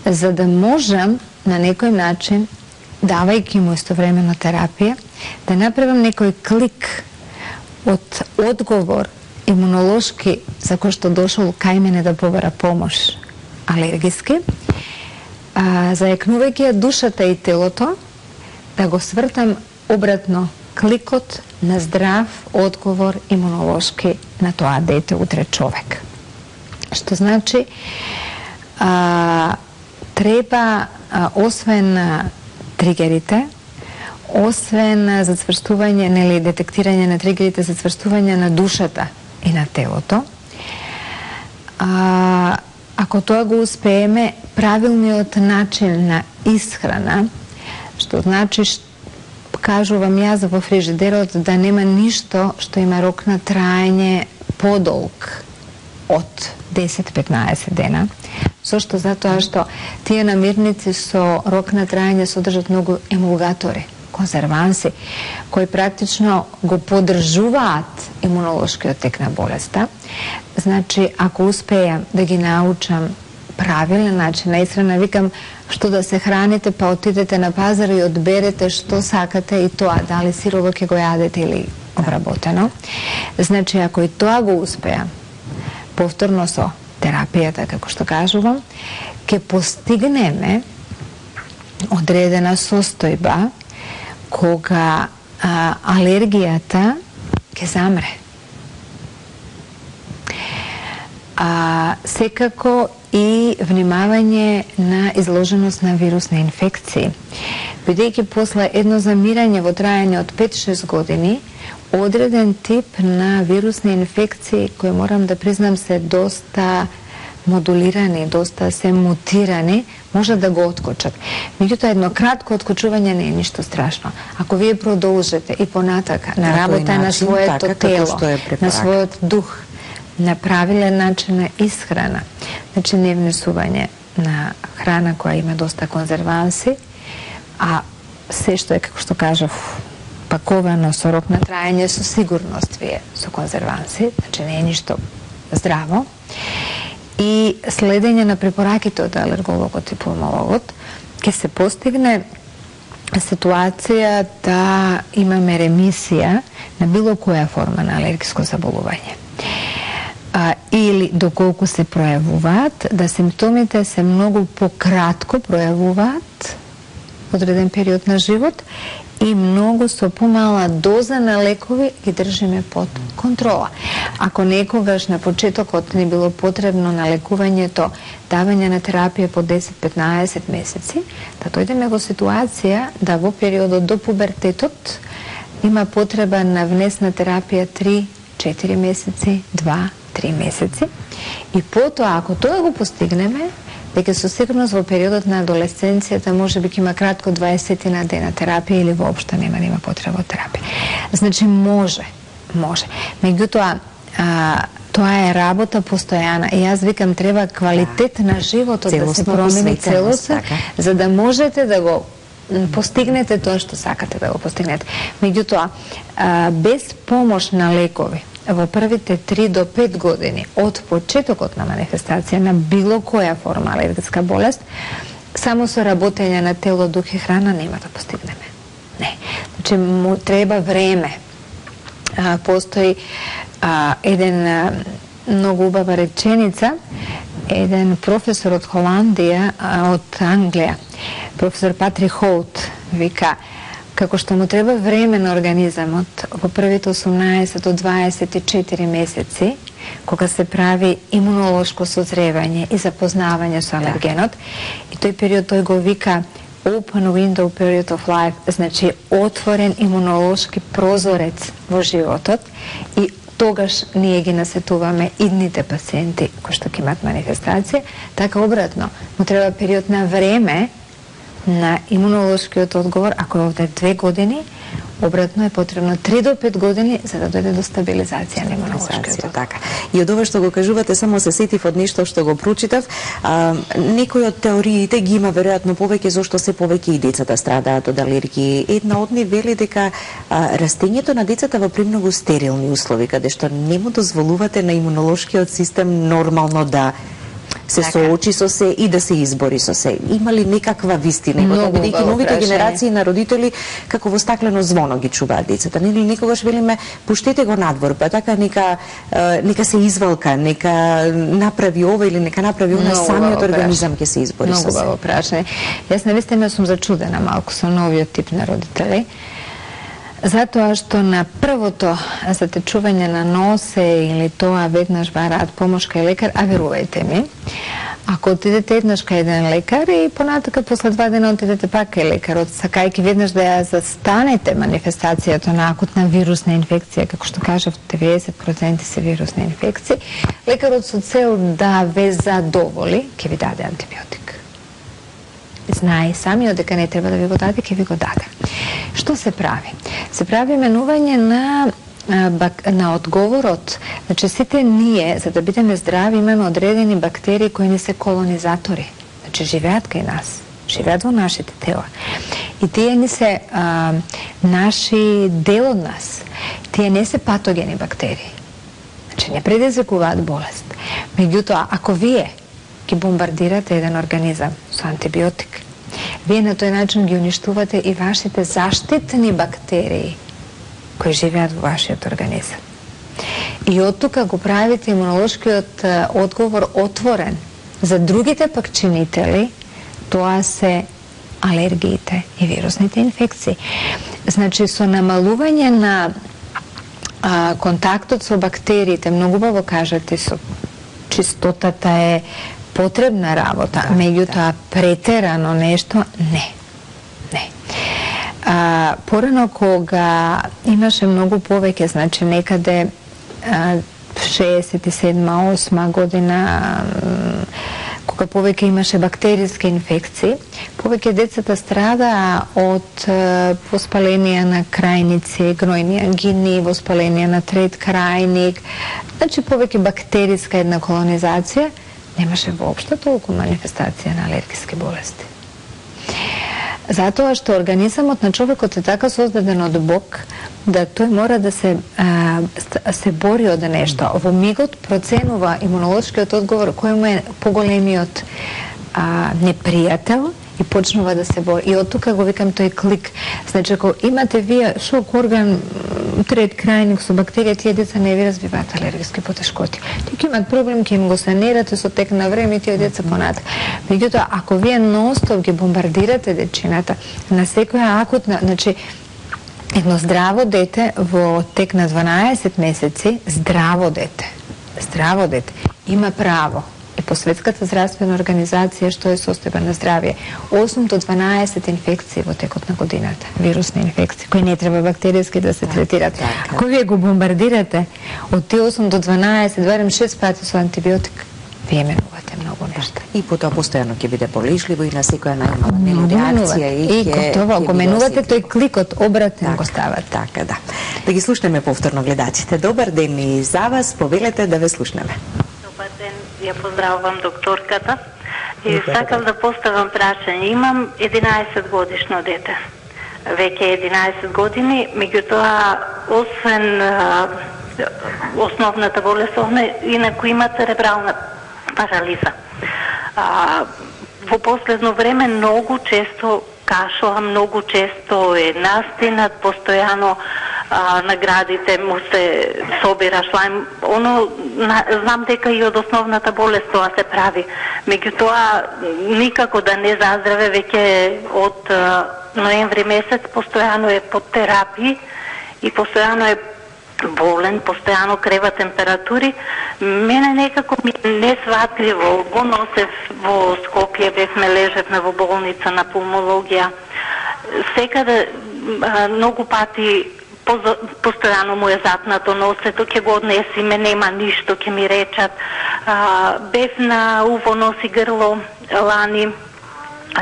За да можам на некој начин, давајќи му истовремено терапија, да направам некој клик од одговор имунолошки за кој што дошол кај мене да побара помош алергиски, а, зајакнувајќи ја душата и телото, да го свртам обратно кликот на здрав одговор имунолошки на тоа дете, утре човек. Што значи, а, треба, а, освен тригерите, освен за цврстување, нели, детектирање на тригерите за цврстување на душата и на телото, а, ако тоа го успееме, правилниот начин на исхрана, што значи, кажувам јас во фрижидерот, да нема ништо што има рок на траење подолг од десет до петнаесет дена. Зошто? Затоа што тие намирници со рок на траење содржат многу емулгатори, конзерванси, кои практично го поддржуваат имунолошкиот тек на болеста. Значи, ако успеам да ги научам правилен начин на исхрана, викам, што да се храните, па отидете на пазар и одберете што сакате и тоа, дали сирово ќе го јадете или обработено. Значи, ако и тоа го успеа, повторно со терапијата, како што кажувам, ќе постигнеме одредена состојба кога а, алергијата ќе замре. А, секако и внимавање на изложеност на вирусни инфекции. Бидејќи после едно замирање во трајање од пет-шест години, одреден тип на вирусни инфекции, кои морам да признам се доста модулирани, доста се мутирани, може да го откочат. Меѓутоа, едно кратко откочување не е ништо страшно. Ако вие продолжите и понатака на работа на своето тело, на својот дух, на правилен начин на исхрана, значи не внесување на храна која има доста конзерванси, а се што е, како што кажав, паковано со рок на трајање, со сигурност вие со конзерванси, значи не е ништо здраво, и следење на препораките од алергологот и пулмологот, ќе се постигне ситуација да имаме ремисија на било која форма на алергиско заболување. А, или доколку се пројавуваат, да симптомите се многу пократко пројавуваат одреден период на живот и многу со помала доза на лекови ги држиме под контрола. Ако некогаш на почетокот не било потребно на лекувањето давање на терапија по десет-петнаесет месеци, да дојдеме во ситуација да во периодот до пубертетот има потреба на внесна терапија три-четири месеци, два-три месеци. И потоа, ако тоа го постигнеме, дека со сигурност во периодот на адолесценцијата може би ќе има кратко дваесет на дена терапија или воопшто нема нема потреба од терапија. Значи може, може. Меѓутоа, тоа е работа постојана и јас викам треба квалитет на животот да се промени целосно, за да можете да го постигнете тоа што сакате да го постигнете. Меѓутоа, без помош на лекови, во првите три до пет години од почетокот на манифестација на било која форма алергиска болест, само со работење на тело, дух и храна нема да постигнеме. Не. Значи, му треба време. А, постои а, еден а, многу убава реченица, еден професор од Холандија, а, од Англија, професор Патрик Хоут, вика, како што му треба време на организамот во првите осумнаесет до дваесет и четири месеци, кога се прави имунолошко созревање и запознавање со алергенот, и тој период тој го вика open window period of life, значи отворен имунолошки прозорец во животот, и тогаш ние ги насетуваме идните пациенти кои што ќе имат манифестација, така обратно, му треба период на време на имунолошкиот одговор. Ако е овде две години, обратно е потребно три до пет години за да дојде до стабилизација на имунолошкиот одговор. Така. И од ова што го кажувате, само се сетив од нешто што го прочитав. А, некои од теориите ги има веројатно повеќе, зашто се повеќе и децата страдаат од алергии. Една од нив вели дека а, растењето на децата во премногу стерилни услови, каде што не му дозволувате на имунолошкиот систем нормално да се така соочи со се и да се избори со се. Има ли некаква вистина? Бидејќи новите генерации на родители како во стаклено звоно ги чуваат децата. Нели некогаш велиме пуштете го надвор, па така нека нека се извалка, нека направи ова или нека направи она, самиот организам ќе се избори со се. Многу убаво прашање. Јас навистина сум зачудена малку со новиот тип на родители. Затоа што на првото затечување на носе или тоа веднаш бараат помош кај лекар, а верувајте ми, ако отидете еднаш кај еден лекар и понатака после два дена отидете пак кај лекарот, сакајќи веднаш да ја застанете манифестацијата на акутна вирусна инфекција, како што кажав, деветдесет проценти се вирусни инфекции, лекарот со цел да ве задоволи, ќе ви даде антибиотик. Знае самиот дека не треба да ви го даде, ќе ви го даде. Што се прави? Се прави менување на на одговорот. Значи, сите ние, за да бидеме здрави, имаме одредени бактерии кои не се колонизатори. Значи, живеат кај нас, живеат во нашите тела. И тие не се а, наши дел од нас. Тие не се патогени бактерии. Значи, не предизвикуваат болест. Меѓутоа, ако вие ги бомбардирате еден организам со антибиотик, вие на тој начин ги уништувате и вашите заштитни бактерии кои живеат во вашиот организам. И од тука го правите имунолошкиот одговор отворен за другите пак чинители, тоа се алергиите и вирусните инфекции. Значи, со намалување на а, контактот со бактериите, многу баво кажете, со чистотата е потребна работа, да, меѓутоа да. претерано нешто, не. Не. А, порано кога имаше многу повеќе, значи некаде а, шеесет и седма осма година, кога повеќе имаше бактериски инфекции, повеќе децата страдаа од воспаление на крајници, гнојни ангини, воспаление на трет крајник, значи повеќе бактериска една колонизација, немаше воопшто толку манифестација на алергиски болести. Затоа што организамот на човекот е така создаден од Бог, да тој мора да се а, се бори од нешто. Во мигот проценува имунолошкиот одговор кој му е поголемиот а, непријател и почнува да се бори. И од тука го викам тој клик. Значи, ако имате вие шок орган, трет крајник со бактерија, тие деца не ви развиваат алергиски потешкоти. Тие ќе имат проблем, ќе им го санирате со тек на време и тие деца понатак. Меѓутоа, ако вие ностоп ги бомбардирате дечината на секоја акутна, значи, едно здраво дете во тек на дванаесет месеци, здраво дете, здраво дете, има право и по Светската здравствена организација што е состојба на здравје, осум до дванаесет инфекции во текот на годината, вирусни инфекции, кои не треба бактеријски да се третират. Ако вие го бомбардирате од тие осум до дванаесет, барем шест пати со антибиотик, вие менувате многу нешта. И потоа постојано ќе биде полежливо и на секоја најмала реакција и ќе тоа го менувате, тој кликот обратен так, го ставате. Така, да. Да ги слушнеме повторно гледачите. Добар ден и за вас, повелете да ве слушнеме. Добар ден, ја поздравувам докторката и сакам да поставам прашање. Имам единаесет годишно дете. Веќе единаесет години, меѓутоа освен а, основната болест, инаку има церебрална парализа. А, во последно време многу често кашува, многу често е настинат, постојано а, наградите му се собира шлајм. Оно, на, знам дека и од основната болест тоа се прави. Меѓутоа, никако да не заздраве, веќе од а, ноември месец постојано е под терапии и постојано е болен, постојано крева температури. Мене некако ми не сватливо, го носев во Скопје, бевме лежевме во болница на пулмологија. Секаде многу пати постојано му е запнато носето, ќе го однесиме, нема ништо, ќе ми речат. Бев на уво, нос и грло лани,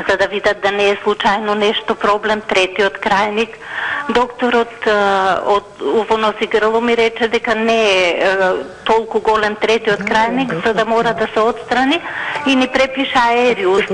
за да видат да не е случајно нешто проблем, третиот крајник. Докторот од уво, нос и грло ми рече дека не е толку голем третиот крајник, за да мора да се отстрани и ни препиша аериус.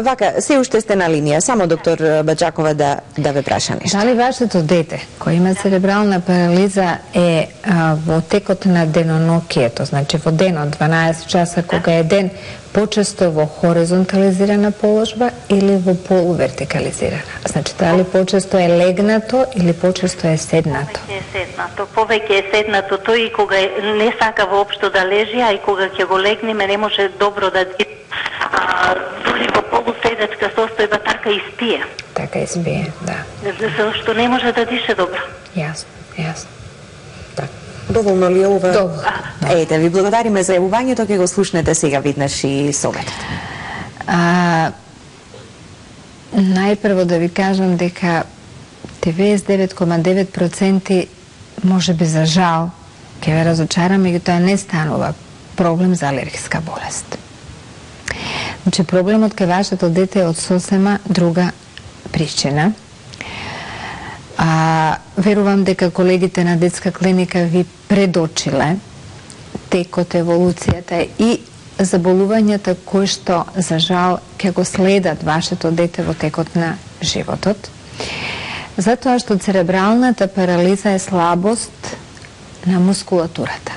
Вака, се уште сте на линија, само доктор Баџакова да, да ве праша нешто. Дали вашето дете, кој има церебрална парализа, е а, во текот на денонокието, значи во денот, дванаесет часа кога е ден, почесто во хоризонтализирана положба или во полувертикализирана? Значи, дали почесто е легнато или почесто е седнато? Повеќе е седнато. Повеќе е седнато тој и кога не сака воопшто да лежи, а и кога ќе го легнеме не може добро да диша. Дури во полуседачка состојба така и спие. Така и спие, да. Зашто не може да диша добро. Јасно, јасно. Доволно ли е ова? Доволно. Ете, ви благодариме за јавувањето, ќе го слушнете сега виднаш и советот. А, најпрво да ви кажам дека деветдесет и девет зарез девет проценти може би за жал ќе ве разочарам, меѓутоа не станува проблем за алергиска болест. Значи, проблемот кај вашето дете е од сосема друга причина. А, верувам дека колегите на детска клиника ви предочиле текот, еволуцијата и заболувањата кои што, за жал, ќе го следат вашето дете во текот на животот. Затоа што церебралната парализа е слабост на мускулатурата.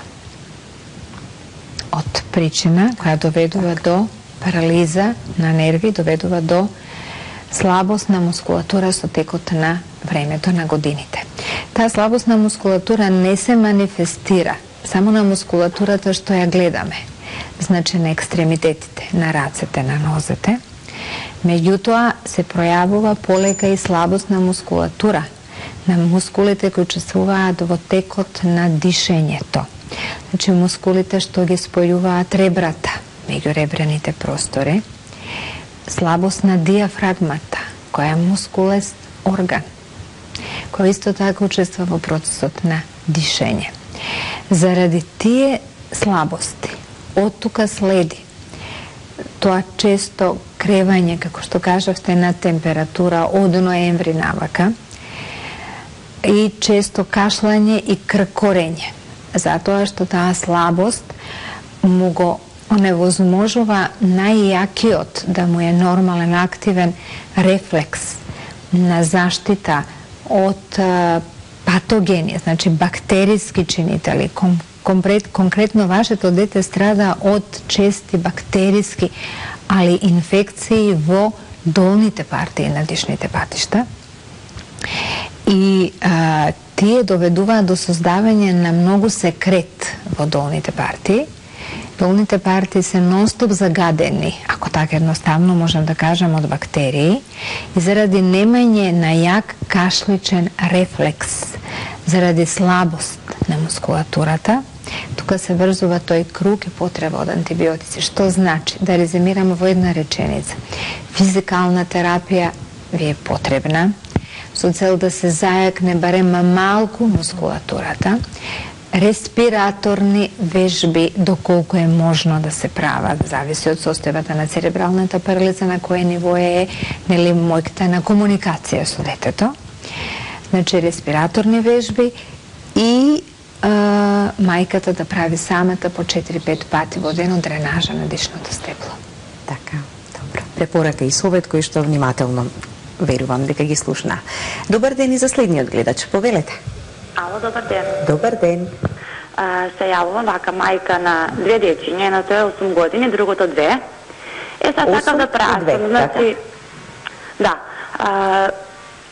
од причина која доведува до парализа на нерви, доведува до слабост на мускулатура со текот на времето на годините. Таа слабост на мускулатура не се манифестира само на мускулатурата што ја гледаме, значи на екстремитетите, на рацете, на нозете. Меѓутоа се пројавува полека и слабост на мускулатура, на мускулите кои учествуваат во текот на дишењето. Значи мускулите што ги спојуваат ребрата, меѓуребрените простори, слабост на диафрагмата, која е мускулест орган, кој исто така учества во процесот на дишење. Заради тие слабости, од тука следи тоа често кревање, како што кажавте, на температура од ноември навака и често кашлање и кркорење, затоа што таа слабост му го оневозможува најјакиот, да му е нормален, активен рефлекс на заштита од патогени, значи бактериски чинители. Конкрет, конкретно вашето дете страда од чести бактериски, али инфекции во долните партии на дишните патишта. И а, тие доведуваат до создавање на многу секрет во долните партии. Долните партии се нон-стоп загадени, ако така едноставно можем да кажем, од бактерии, и заради немање на јак кашличен рефлекс, заради слабост на мускулатурата, тука се врзува тој круг и потреба од антибиотици. Што значи? Да резимираме во една реченица. Физикална терапија ви е потребна, со цел да се зајакне барем малку мускулатурата. Респираторни вежби, доколку е можно да се прават, зависи од состојбата на церебралната парализа, на кое ниво е, нели, мојката на комуникација со детето. Значи, респираторни вежби и а, мајката да прави самата по четири-пет пати во ден дренажа на дишното стебло. Така, добро. Препорака и совет кој што внимателно верувам дека ги слушна. Добар ден и за следниот гледач. Повелете. Ало, добар ден. Добар ден. А, се јавувам вака мајка на две дечиња, едното е осум години, другото две. Е, сега така да прашам, значи, да, а,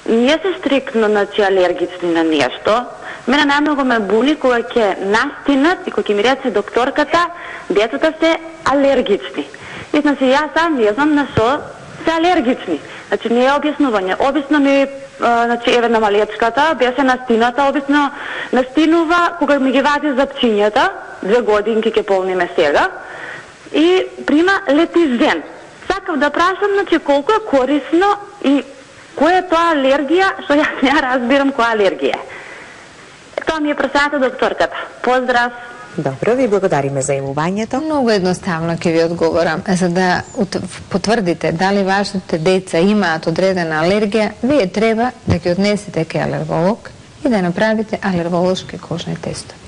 ние се стрикно, значи, алергични на нешто. Мене најмногу ме були кога ќе настинат и кога ќе ми рече докторката, детата се алергични. И, значи, јас сам не знам на што се алергични. Значи, не е објаснување. Обично ми, а, значи, еве на малечката, беше настината, обично настинува кога ми ги вади запчињата, две годинки ќе полниме сега, и прима летизен. Сакав да прашам, значи, колку е корисно и која е тоа алергија, што јас не разбирам која алергија е. Тоа ми е прашањето докторката. Поздрав! Добро, ви благодариме за јавувањето. Многу едноставно ќе ви одговорам. За да потврдите дали вашите деца имаат одредена алергија, вие треба да ги однесете кај алерголог и да направите алерголошки кожни тестови.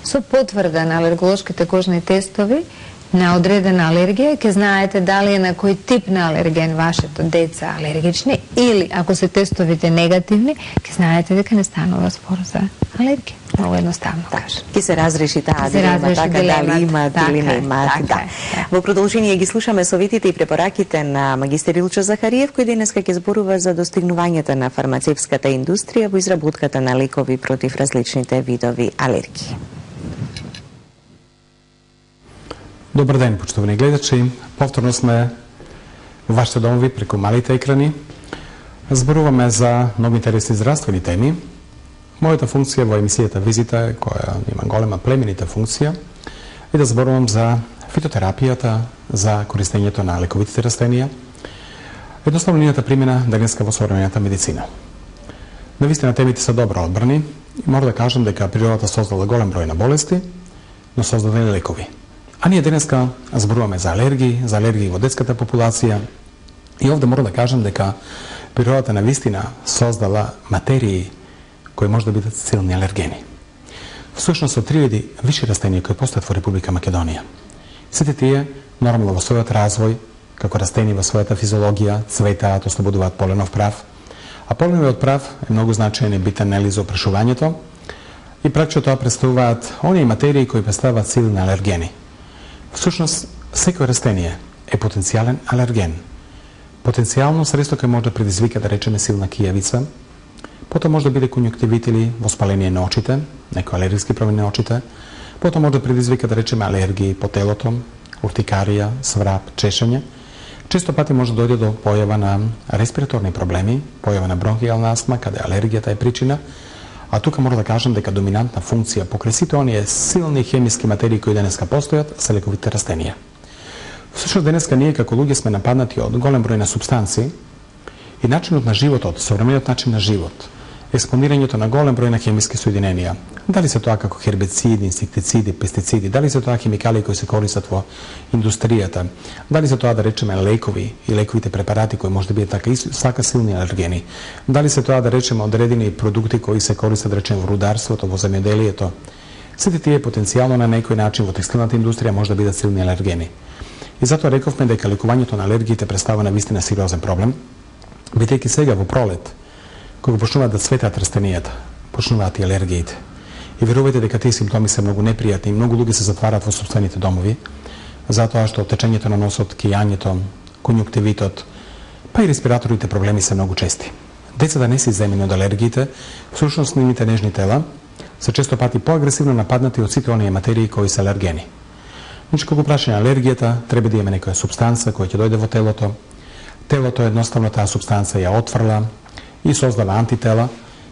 Со потврда на алерголошките кожни тестови на одредена алергија, ќе знаете дали е на кој тип на алерген вашето деца алергични, или ако се тестовите негативни, ќе знаете дека не станува спор за алергија. Много едноставно кажа. Ке се разреши таа дилема, така дали имаат или не имаат. Да. Во продолжение ги слушаме советите и препораките на магистер Илчо Захариев, кој денеска ќе зборува за достигнувањата на фармацевската индустрија во изработката на лекови против различните видови алергии. Добар ден, почитувани гледачи. Повторно сме во вашите домови преку малите екрани. Зборуваме за многу интересни здравствени теми. Мојата функција во емисијата Визита е, која има голема племенита функција, и да зборувам за фитотерапијата, за користењето на лековитите растенија, едноставно нијата примена денеска во современата медицина. Навистина темите се добро одбрани и мора да кажам дека природата создала голем број на болести, но создадени лекови. А ние денеска зборуваме за алергии, за алергии во детската популација, и овде мора да кажам дека природата навистина создала материи кои може да бидат силни алергени. Всушност со три види виши растенија кои постојат во Република Македонија. Сите тие, нормално во својот развој, како растени во својата физиологија, цветаат, ослободуваат поленов прав, а поленовиот прав е многу значаен и битен нели за опрашувањето, и прачо тоа представуваат оние материи кои представуваат силни алергени. Всушност, секој растение е потенцијален алерген. Потенцијално средство кој може да предизвика, да речеме, силна кијавица, потоа може да биде конјуктивит или воспаление на очите, некои алергиски промени на очите, потоа може да предизвика, да речеме, алергии по телото, уртикарија, сврап, чешење. Често пати може да дојде до појава на респираторни проблеми, појава на бронхијална астма, каде алергијата е причина, а тука мора да кажам дека доминантна функција покрај сите оние силни хемиски материи кои денеска постојат се лековите растенија. Всушност денеска ние како луѓе сме нападнати од голем број на супстанции и начинот на животот, современиот начин на живот, експонирањето на голем број на хемиски соединенија, дали се тоа како хербициди, инсектициди, пестициди, дали се тоа хемикали кои се користат во индустријата, дали се тоа, да речеме, лекови и лековите препарати кои може да бидат така сака силни алергени, дали се тоа, да речеме, одредени продукти кои се користат, да речеме, во рударството, во земјоделието. Сите тие потенцијално на некој начин во текстилната индустрија може да бидат силни алергени. И затоа рековме дека лекувањето на алергиите представува навистина сериозен проблем, бидејќи сега во пролет, кога почнуваат да цветат растенијата, почнуваат и алергиите. И верувајте дека тие симптоми се многу непријатни и многу луѓе се затварат во сопствените домови, затоа што течењето на носот, кијањето, конјуктивитот, па и респираторните проблеми се многу чести. Децата не се изземени од алергиите, всушност нивните нежни тела се често пати поагресивно нападнати од сите оние материи кои се алергени. Значи, кога прашање алергијата, треба да имаме некоја субстанца која ќе дојде во телото. Телото едноставно таа субстанца ја отфрла и создава антитела.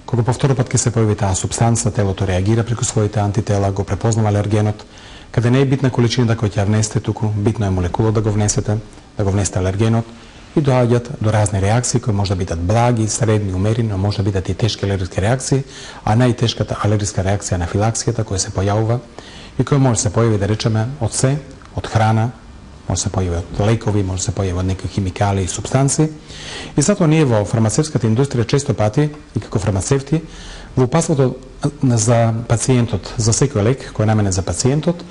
Кога повторно пат ќе се појави таа субстанца, телото реагира преку своите антитела, го препознава алергенот, каде не е битна количината која ќе ја внесете туку, битно е молекулот да го внесете, да го внесете алергенот и доаѓаат до разни реакции кои може да бидат благи, средни, умерени, но може да бидат и тешки алергиски реакции, а најтешката алергиска реакција на анафилаксијата која се појавува и која може да се појави, да речеме, од се, од храна, може да се појави од лекови, може да се појави од некои химикали и субстанции. И затоа ние во фармацевската индустрија често пати и како фармацевти во упатството за пациентот, за секој лек кој е наменет за пациентот,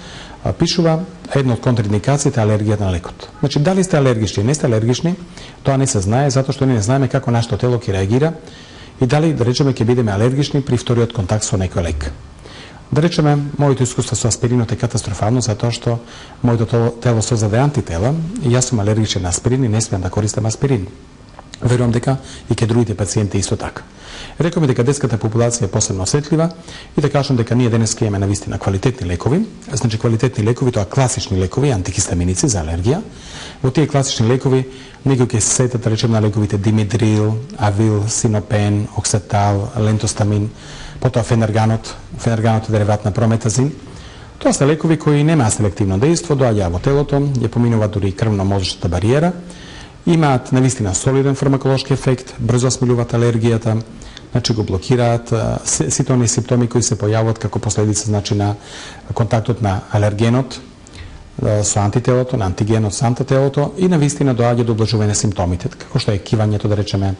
пишува една од контраиндикациите алергија на лекот. Значи, дали сте алергични или не сте алергични, тоа не се знае, затоа што ние не знаеме како нашето тело ќе реагира и дали, да речеме, ќе бидеме алергични при вториот контакт со некој лек. Да речеме, моето искуство со аспиринот е катастрофално, затоа што моето тело создаде антитела и јас сум алергичен на аспирин и не смеам да користам аспирин. Верувам дека и ке другите пациенти исто така. Рекоме дека детската популација е посебно осетлива и да кажам дека ние денес имаме навистина квалитетни лекови, значи квалитетни лекови, тоа класични лекови, антихистаминици за алергија. Во тие класични лекови некои ќе се сетат, да речеме, на лековите димедрил, авил, синопен, оксетал, лентостамин, потоа фенерганот, фенерганот е дериват на прометазин. Тоа се лекови кои немаат селективно дејство, доаѓаат во телото, ја поминуваат дури и крвно-мозочната бариера, имаат навистина солиден фармаколошки ефект, брзо смилуваат алергијата, значи го блокираат сите оние симптоми кои се појавуваат како последица, значи, на контактот на алергенот со антителото, на антигенот со антителото и навистина доаѓа до облажување на симптомите, како што е кивањето, да речеме,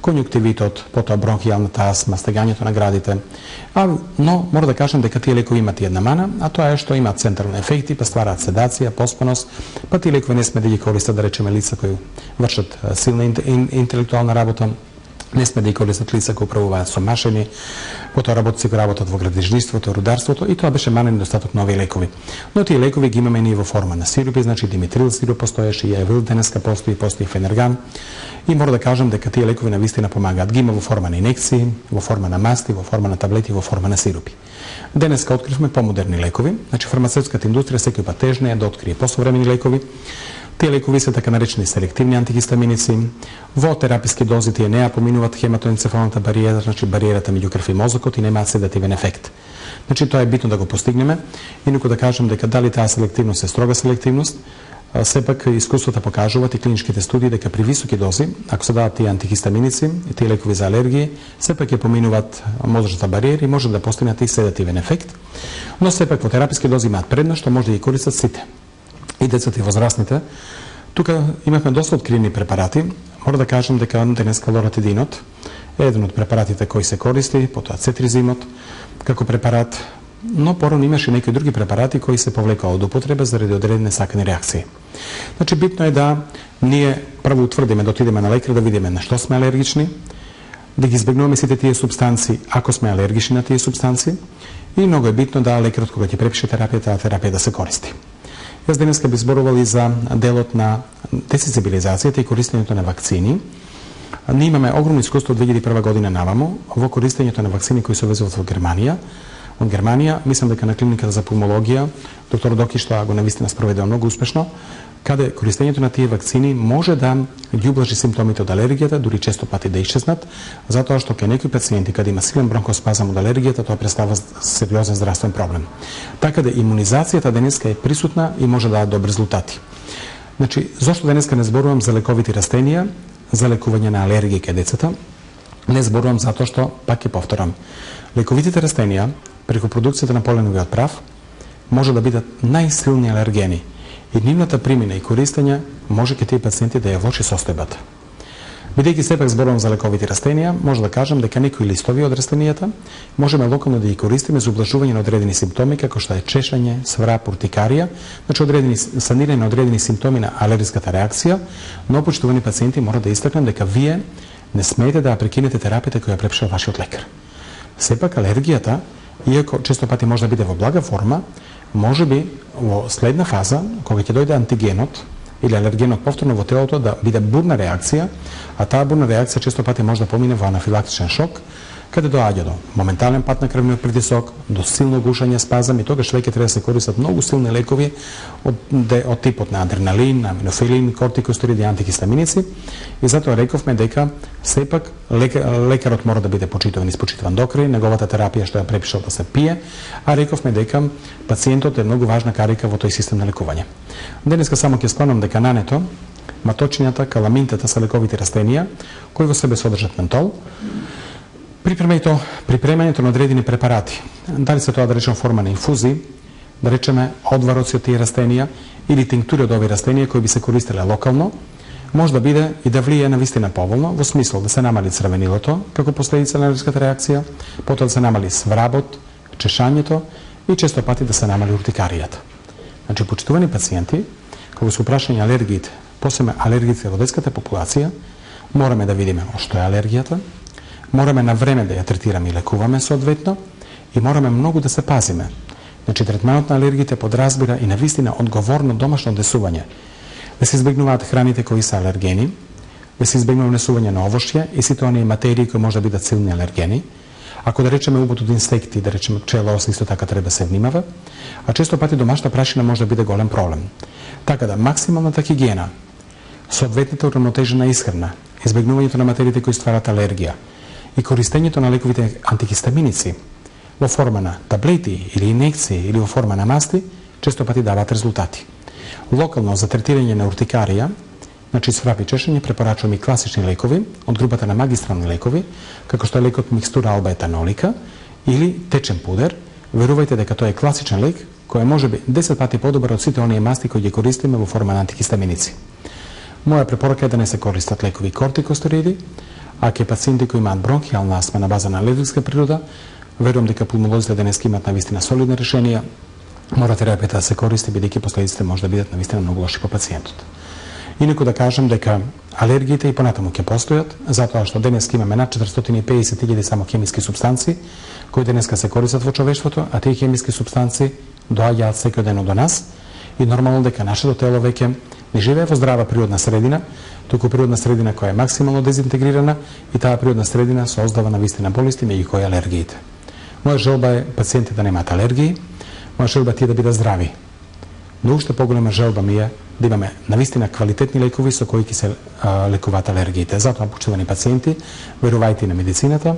конјуктивитот, потоа бронхијалната астма, стегањето на градите. А, но мора да кажам дека тие лекови имаат и една мана, а тоа е што имаат централни ефекти, па ствараат седација, поспаност, па тие лекови не сме да ги користат, да речеме, лица кои вршат силна интелектуална работа, не сме да ги користат лица кои управуваат со машини, потоа работници кои работат во градежништвото, рударството и тоа беше манен недостаток на овие лекови. Но тие лекови ги имаме ние во форма на сирупи, значи диметрил сируп постоеше, и авил денеска постои, постои фенерган. И мора да кажам дека тие лекови навистина помагаат. Ги има во форма на инекции, во форма на масти, во форма на таблети, во форма на сирупи. Денеска откривме помодерни лекови, значи фармацевската индустрија секој пат тежне е да открие посовремени лекови. Тие лекови се така наречени селективни антихистаминици. Во тераписки дози тие не ја поминуваат хематоенцефалната бариера, значи бариерата меѓу крв и мозокот и немаат седативен ефект. Значи тоа е битно да го постигнеме. Инаку да кажам дека дали таа селективност е строга селективност, сепак искуството покажуваат и клиничките студии дека при високи дози, ако се дадат тие антихистаминици и тие лекови за алергии, сепак ја поминуваат мозочната бариера и може да постигнат и седативен ефект. Но сепак во тераписки дози имаат предност што може да ги користат сите. И децата и возрастните. Тука имавме доста откривени препарати. Мора да кажам дека денеска лоратидинот е еден од препаратите кои се користи, потоа цетризимот како препарат, но порано имаше некои други препарати кои се повлекаа од употреба заради одредени сакани реакции. Значи битно е да ние прво утврдиме, да отидеме на лекар да видиме на што сме алергични, да ги избегнуваме сите тие субстанции ако сме алергични на тие субстанции и многу е битно да лекарот кога ќе препише терапија, таа терапија да се користи. Јас денеска би зборувал и за делот на десензибилизацијата и користењето на вакцини. Ние имаме огромно искуство од две илјади и прва година наваму во користењето на вакцини кои се увезуват во Германија. Од Германија, мислам дека на клиниката за пулмологија, доктор Доки што го навистина спроведува многу успешно, каде користењето на тие вакцини може да ги ублажи симптомите од алергијата, дури често пати да исчезнат, затоа што кај некои пациенти каде има силен бронхоспазам од алергијата, тоа представува сериозен здравствен проблем. Така да имунизацијата денеска е присутна и може да даде добри резултати. Значи, зошто денеска не зборувам за лековити растенија, за лекување на алергија кај децата? Не зборувам затоа што, пак ќе повторам, лековитите растенија преку продукцијата на поленовиот прав може да бидат најсилни алергени и нивната примена и користење може ке тие пациенти да ја влоши состојбата. Бидејќи сепак зборувам за лековити растенија, може да кажам дека некои листови од растенијата можеме локално да ги користиме за ублажување на одредени симптоми како што е чешање, сврап, уртикарија, значи одредени санирање на одредени симптоми на алергиската реакција, но почитувани пациенти мора да истакнем дека вие не смеете да ја прекинете терапијата која ја препишал вашиот лекар. Сепак алергијата, иако често пати може да биде во блага форма, може би во следна фаза, кога ќе дојде антигенот или алергенот повторно во телото да биде бурна реакција, а таа бурна реакција често пати може да помине во анафилактичен шок, каде доаѓа до моментален пат на крвниот притисок, до силно гушање, спазам и тогаш веќе треба да се користат многу силни лекови од, од типот на адреналин, аминофилин, кортикостероиди, антихистаминици. И затоа рековме дека сепак лекарот мора да биде почитуван и испочитуван до крај, неговата терапија што ја препишал да се пие, а рековме дека пациентот е многу важна карика во тој систем на лекување. Денеска само ќе спомнам дека нането, маточињата, каламинтата се лековити растенија кои во себе содржат ментол. Припремањето, припремањето на одредени препарати, дали се тоа да речем форма на инфузии, да речеме одвароци од тие растенија или тинктури од овие растенија кои би се користеле локално, може да биде и да влие на вистина поволно, во смисол да се намали црвенилото како последица на алергиската реакција, потоа да се намали свработ, чешањето и често пати да се намали уртикаријата. Значи, почитувани пациенти, кога се прашање алергиите, посебно алергиите во детската популација, мораме да видиме што е алергијата, мораме на време да ја третираме и лекуваме соодветно и мораме многу да се пазиме. Значи, третманот на алергиите подразбира и на вистина одговорно домашно однесување. Да се избегнуваат храните кои се алергени, да се избегнува унесување на овошје и сите оние материи кои може да бидат силни алергени. Ако да речеме убот од инсекти, да речеме пчелоос, исто така треба да се внимава, а често пати домашна прашина може да биде голем проблем. Така да максималната хигиена, соодветната уравнотежена исхрана, избегнувањето на материите кои стварат алергија и користењето на лековите антихистаминици во форма на таблети или инекции или во форма на масти, често пати даваат резултати. Локално за третирање на уртикарија, значи сврап и чешање, препорачувам и класични лекови од групата на магистрални лекови, како што е лекот микстура алба-етанолика или течен пудер. Верувајте дека тоа е класичен лек кој е можеби десет пати подобар од сите оние масти кои ги користиме во форма на антихистаминици. Моја препорака е да не се користат лекови кортикостероиди, а кај пациенти кои имаат бронхијална астма на база на алергиска природа, верувам дека пулмолозите денеска имаат навистина солидни решенија, мора терапијата да се користи, бидејќи последиците може да бидат навистина многу лоши по пациентот. Инаку да кажам дека алергиите и понатаму ќе постојат, затоа што денеска имаме над четиристотини и педесет илјади само хемиски супстанции, кои денеска се користат во човештвото, а тие хемиски супстанции доаѓаат секојдневно до нас и нормално дека нашето тело веќе не живее во здрава природна средина, туку природна средина која е максимално дезинтегрирана и таа природна средина создава навистина болести, меѓу кои алергиите. Моја желба е пациенти да немаат алергии, моја желба е тие да бидат здрави. Но уште поголема желба ми е да имаме навистина квалитетни лекови со кои ќе се а, лекуваат алергиите. Затоа, почитувани пациенти, верувајте на медицината,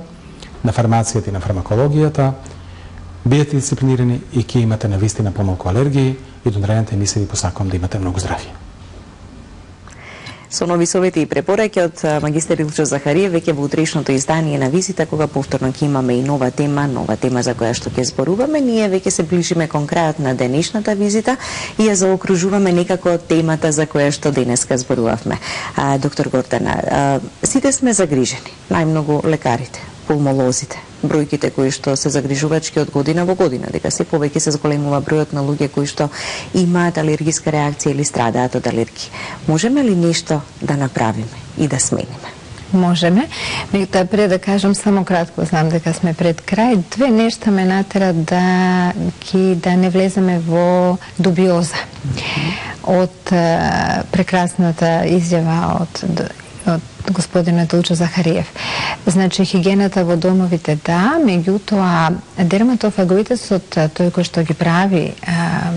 на фармацијата и на фармакологијата, бидете дисциплинирани и ќе имате навистина помалку алергии и до наредната емисија ви посакувам да имате многу здравје. Со нови совети и препораки од магистер Илчо Захариев веќе во утрешното издание на Визита, кога повторно ќе имаме и нова тема, нова тема за која што ќе зборуваме, ние веќе се ближиме кон крајот на денешната визита и ја заокружуваме некако темата за која што денеска зборувавме. А, доктор Гордана, а, сите сме загрижени, најмногу лекарите, пулмолозите, бројките кои што се загрижувачки од година во година, дека се повеќе се зголемува бројот на луѓе кои што имаат алергиска реакција или страдаат од алергии. Можеме ли нешто да направиме и да смениме? можеме. Меѓутоа, пред да кажам само кратко, знам дека сме пред крај, две нешта ме натера да ки да не влеземе во дубиоза. Од прекрасната изјава од од господинот Илчо Захариев. Значи, хигиената во домовите да, меѓутоа дерматофагоитесот, тој кој што ги прави а,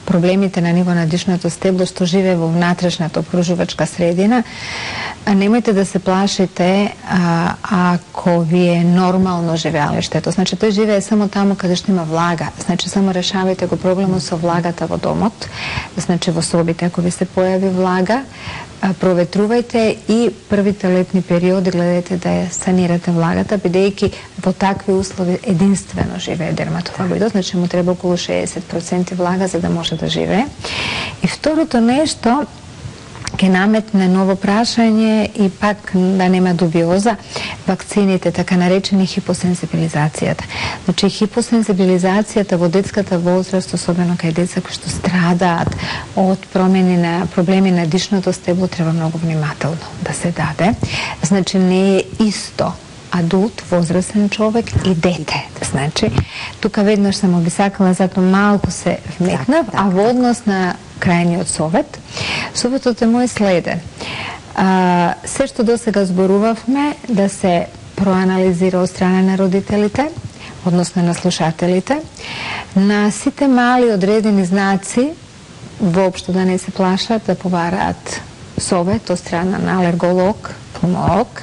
проблемите на ниво на дишното стебло, што живее во внатрешната обкружувачка средина, немојте да се плашите а, ако ви е нормално живеалиштето. Значи, тој живее само таму каде што има влага. Значи, само решавајте го проблемот со влагата во домот. Значи, во собите, ако ви се појави влага, проветрувајте и првите летни периоди гледајте да ја санирате влагата, бидејќи во такви услови единствено живее дерматофагоидот, значи му треба околу шеесет проценти влага за да може да живее. И второто нешто, ќе наметне ново прашање и пак да нема дубиоза, вакцините, така наречени хипосензибилизацијата. Значи, хипосензибилизацијата во детската возраст, особено кај деца кои што страдаат од промени на проблеми на дишното стебло, треба многу внимателно да се даде. Значи, не е исто адулт, возрастен човек и дете. Значи, тука веднаш само би сакала, затоа малку се вметнав, так, так, а во однос на крајниот совет, советот е мој следен. А, се што досега зборувавме да се проанализира од страна на родителите, односно на слушателите, на сите мали одредени знаци, воопшто да не се плашат, да побараат совет од страна на алерголог, пулмолог,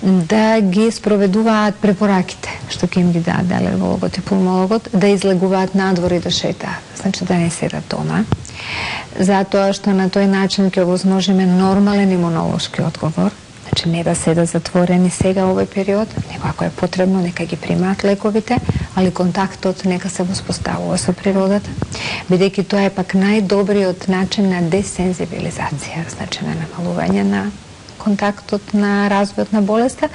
да ги спроведуваат препораките што ќе им ги даде алергологот и пулмологот, да излегуваат надвор и да шетаат, значи да не седат дома, затоа што на тој начин ќе овозможиме нормален имунолошки одговор, значи не да седат затворени сега овој период, него ако е потребно нека ги примаат лековите, али контактот нека се воспоставува со природата, бидејќи тоа е пак најдобриот начин на десензибилизација, значи на намалување на контактот на развојот на болеста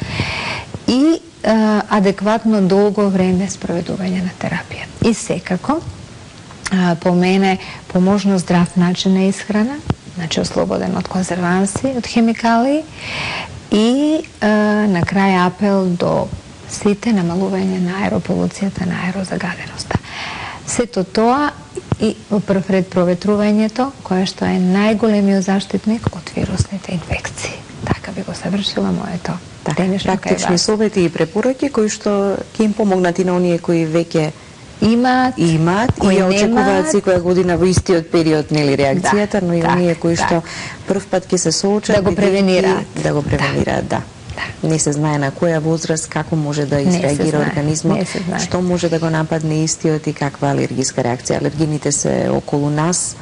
и а, адекватно долго време спроведување на терапија. И секако, а, по мене, по можно здрав начин на исхрана, значи ослободен од конзерванси, од хемикалии и а, на крај апел до сите намалување на аерополуцијата, на аерозагаденоста. Сето тоа и во прв ред проветрувањето, кое што е најголемиот заштитник од вирусните инфекции. Така би го завршила моето така, практични совети и препораки кои што ќе им помогнат и на оние кои веќе имаат, имаат и ја очекуваат секоја година во истиот период, нели, реакцијата, да, но и так, оние кои так. што прв пат ќе се соочат да го превенираат, да го превенираат, да. да. Не се знае на која возраст како може да изреагира организмот, што може да го нападне истиот и каква алергиска реакција. Алергините се околу нас,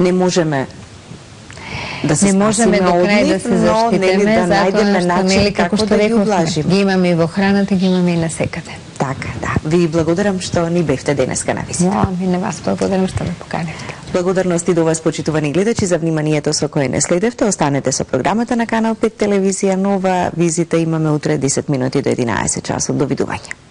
не можеме да се не можеме до крај да се заштитиме, да најдеме начин како што да ги рековме, облажиме. Ги имаме и во храната, ги имаме и на секаде. Така, да. Ви благодарам што ни бевте денеска на визита. Да, ми на вас благодарам што ме поканивте. Благодарности до вас, почитувани гледачи, за вниманието со кое не следевте. Останете со програмата на Канал пет телевизија Нова. Визита имаме утре десет минути до единаесет часот. Довидување.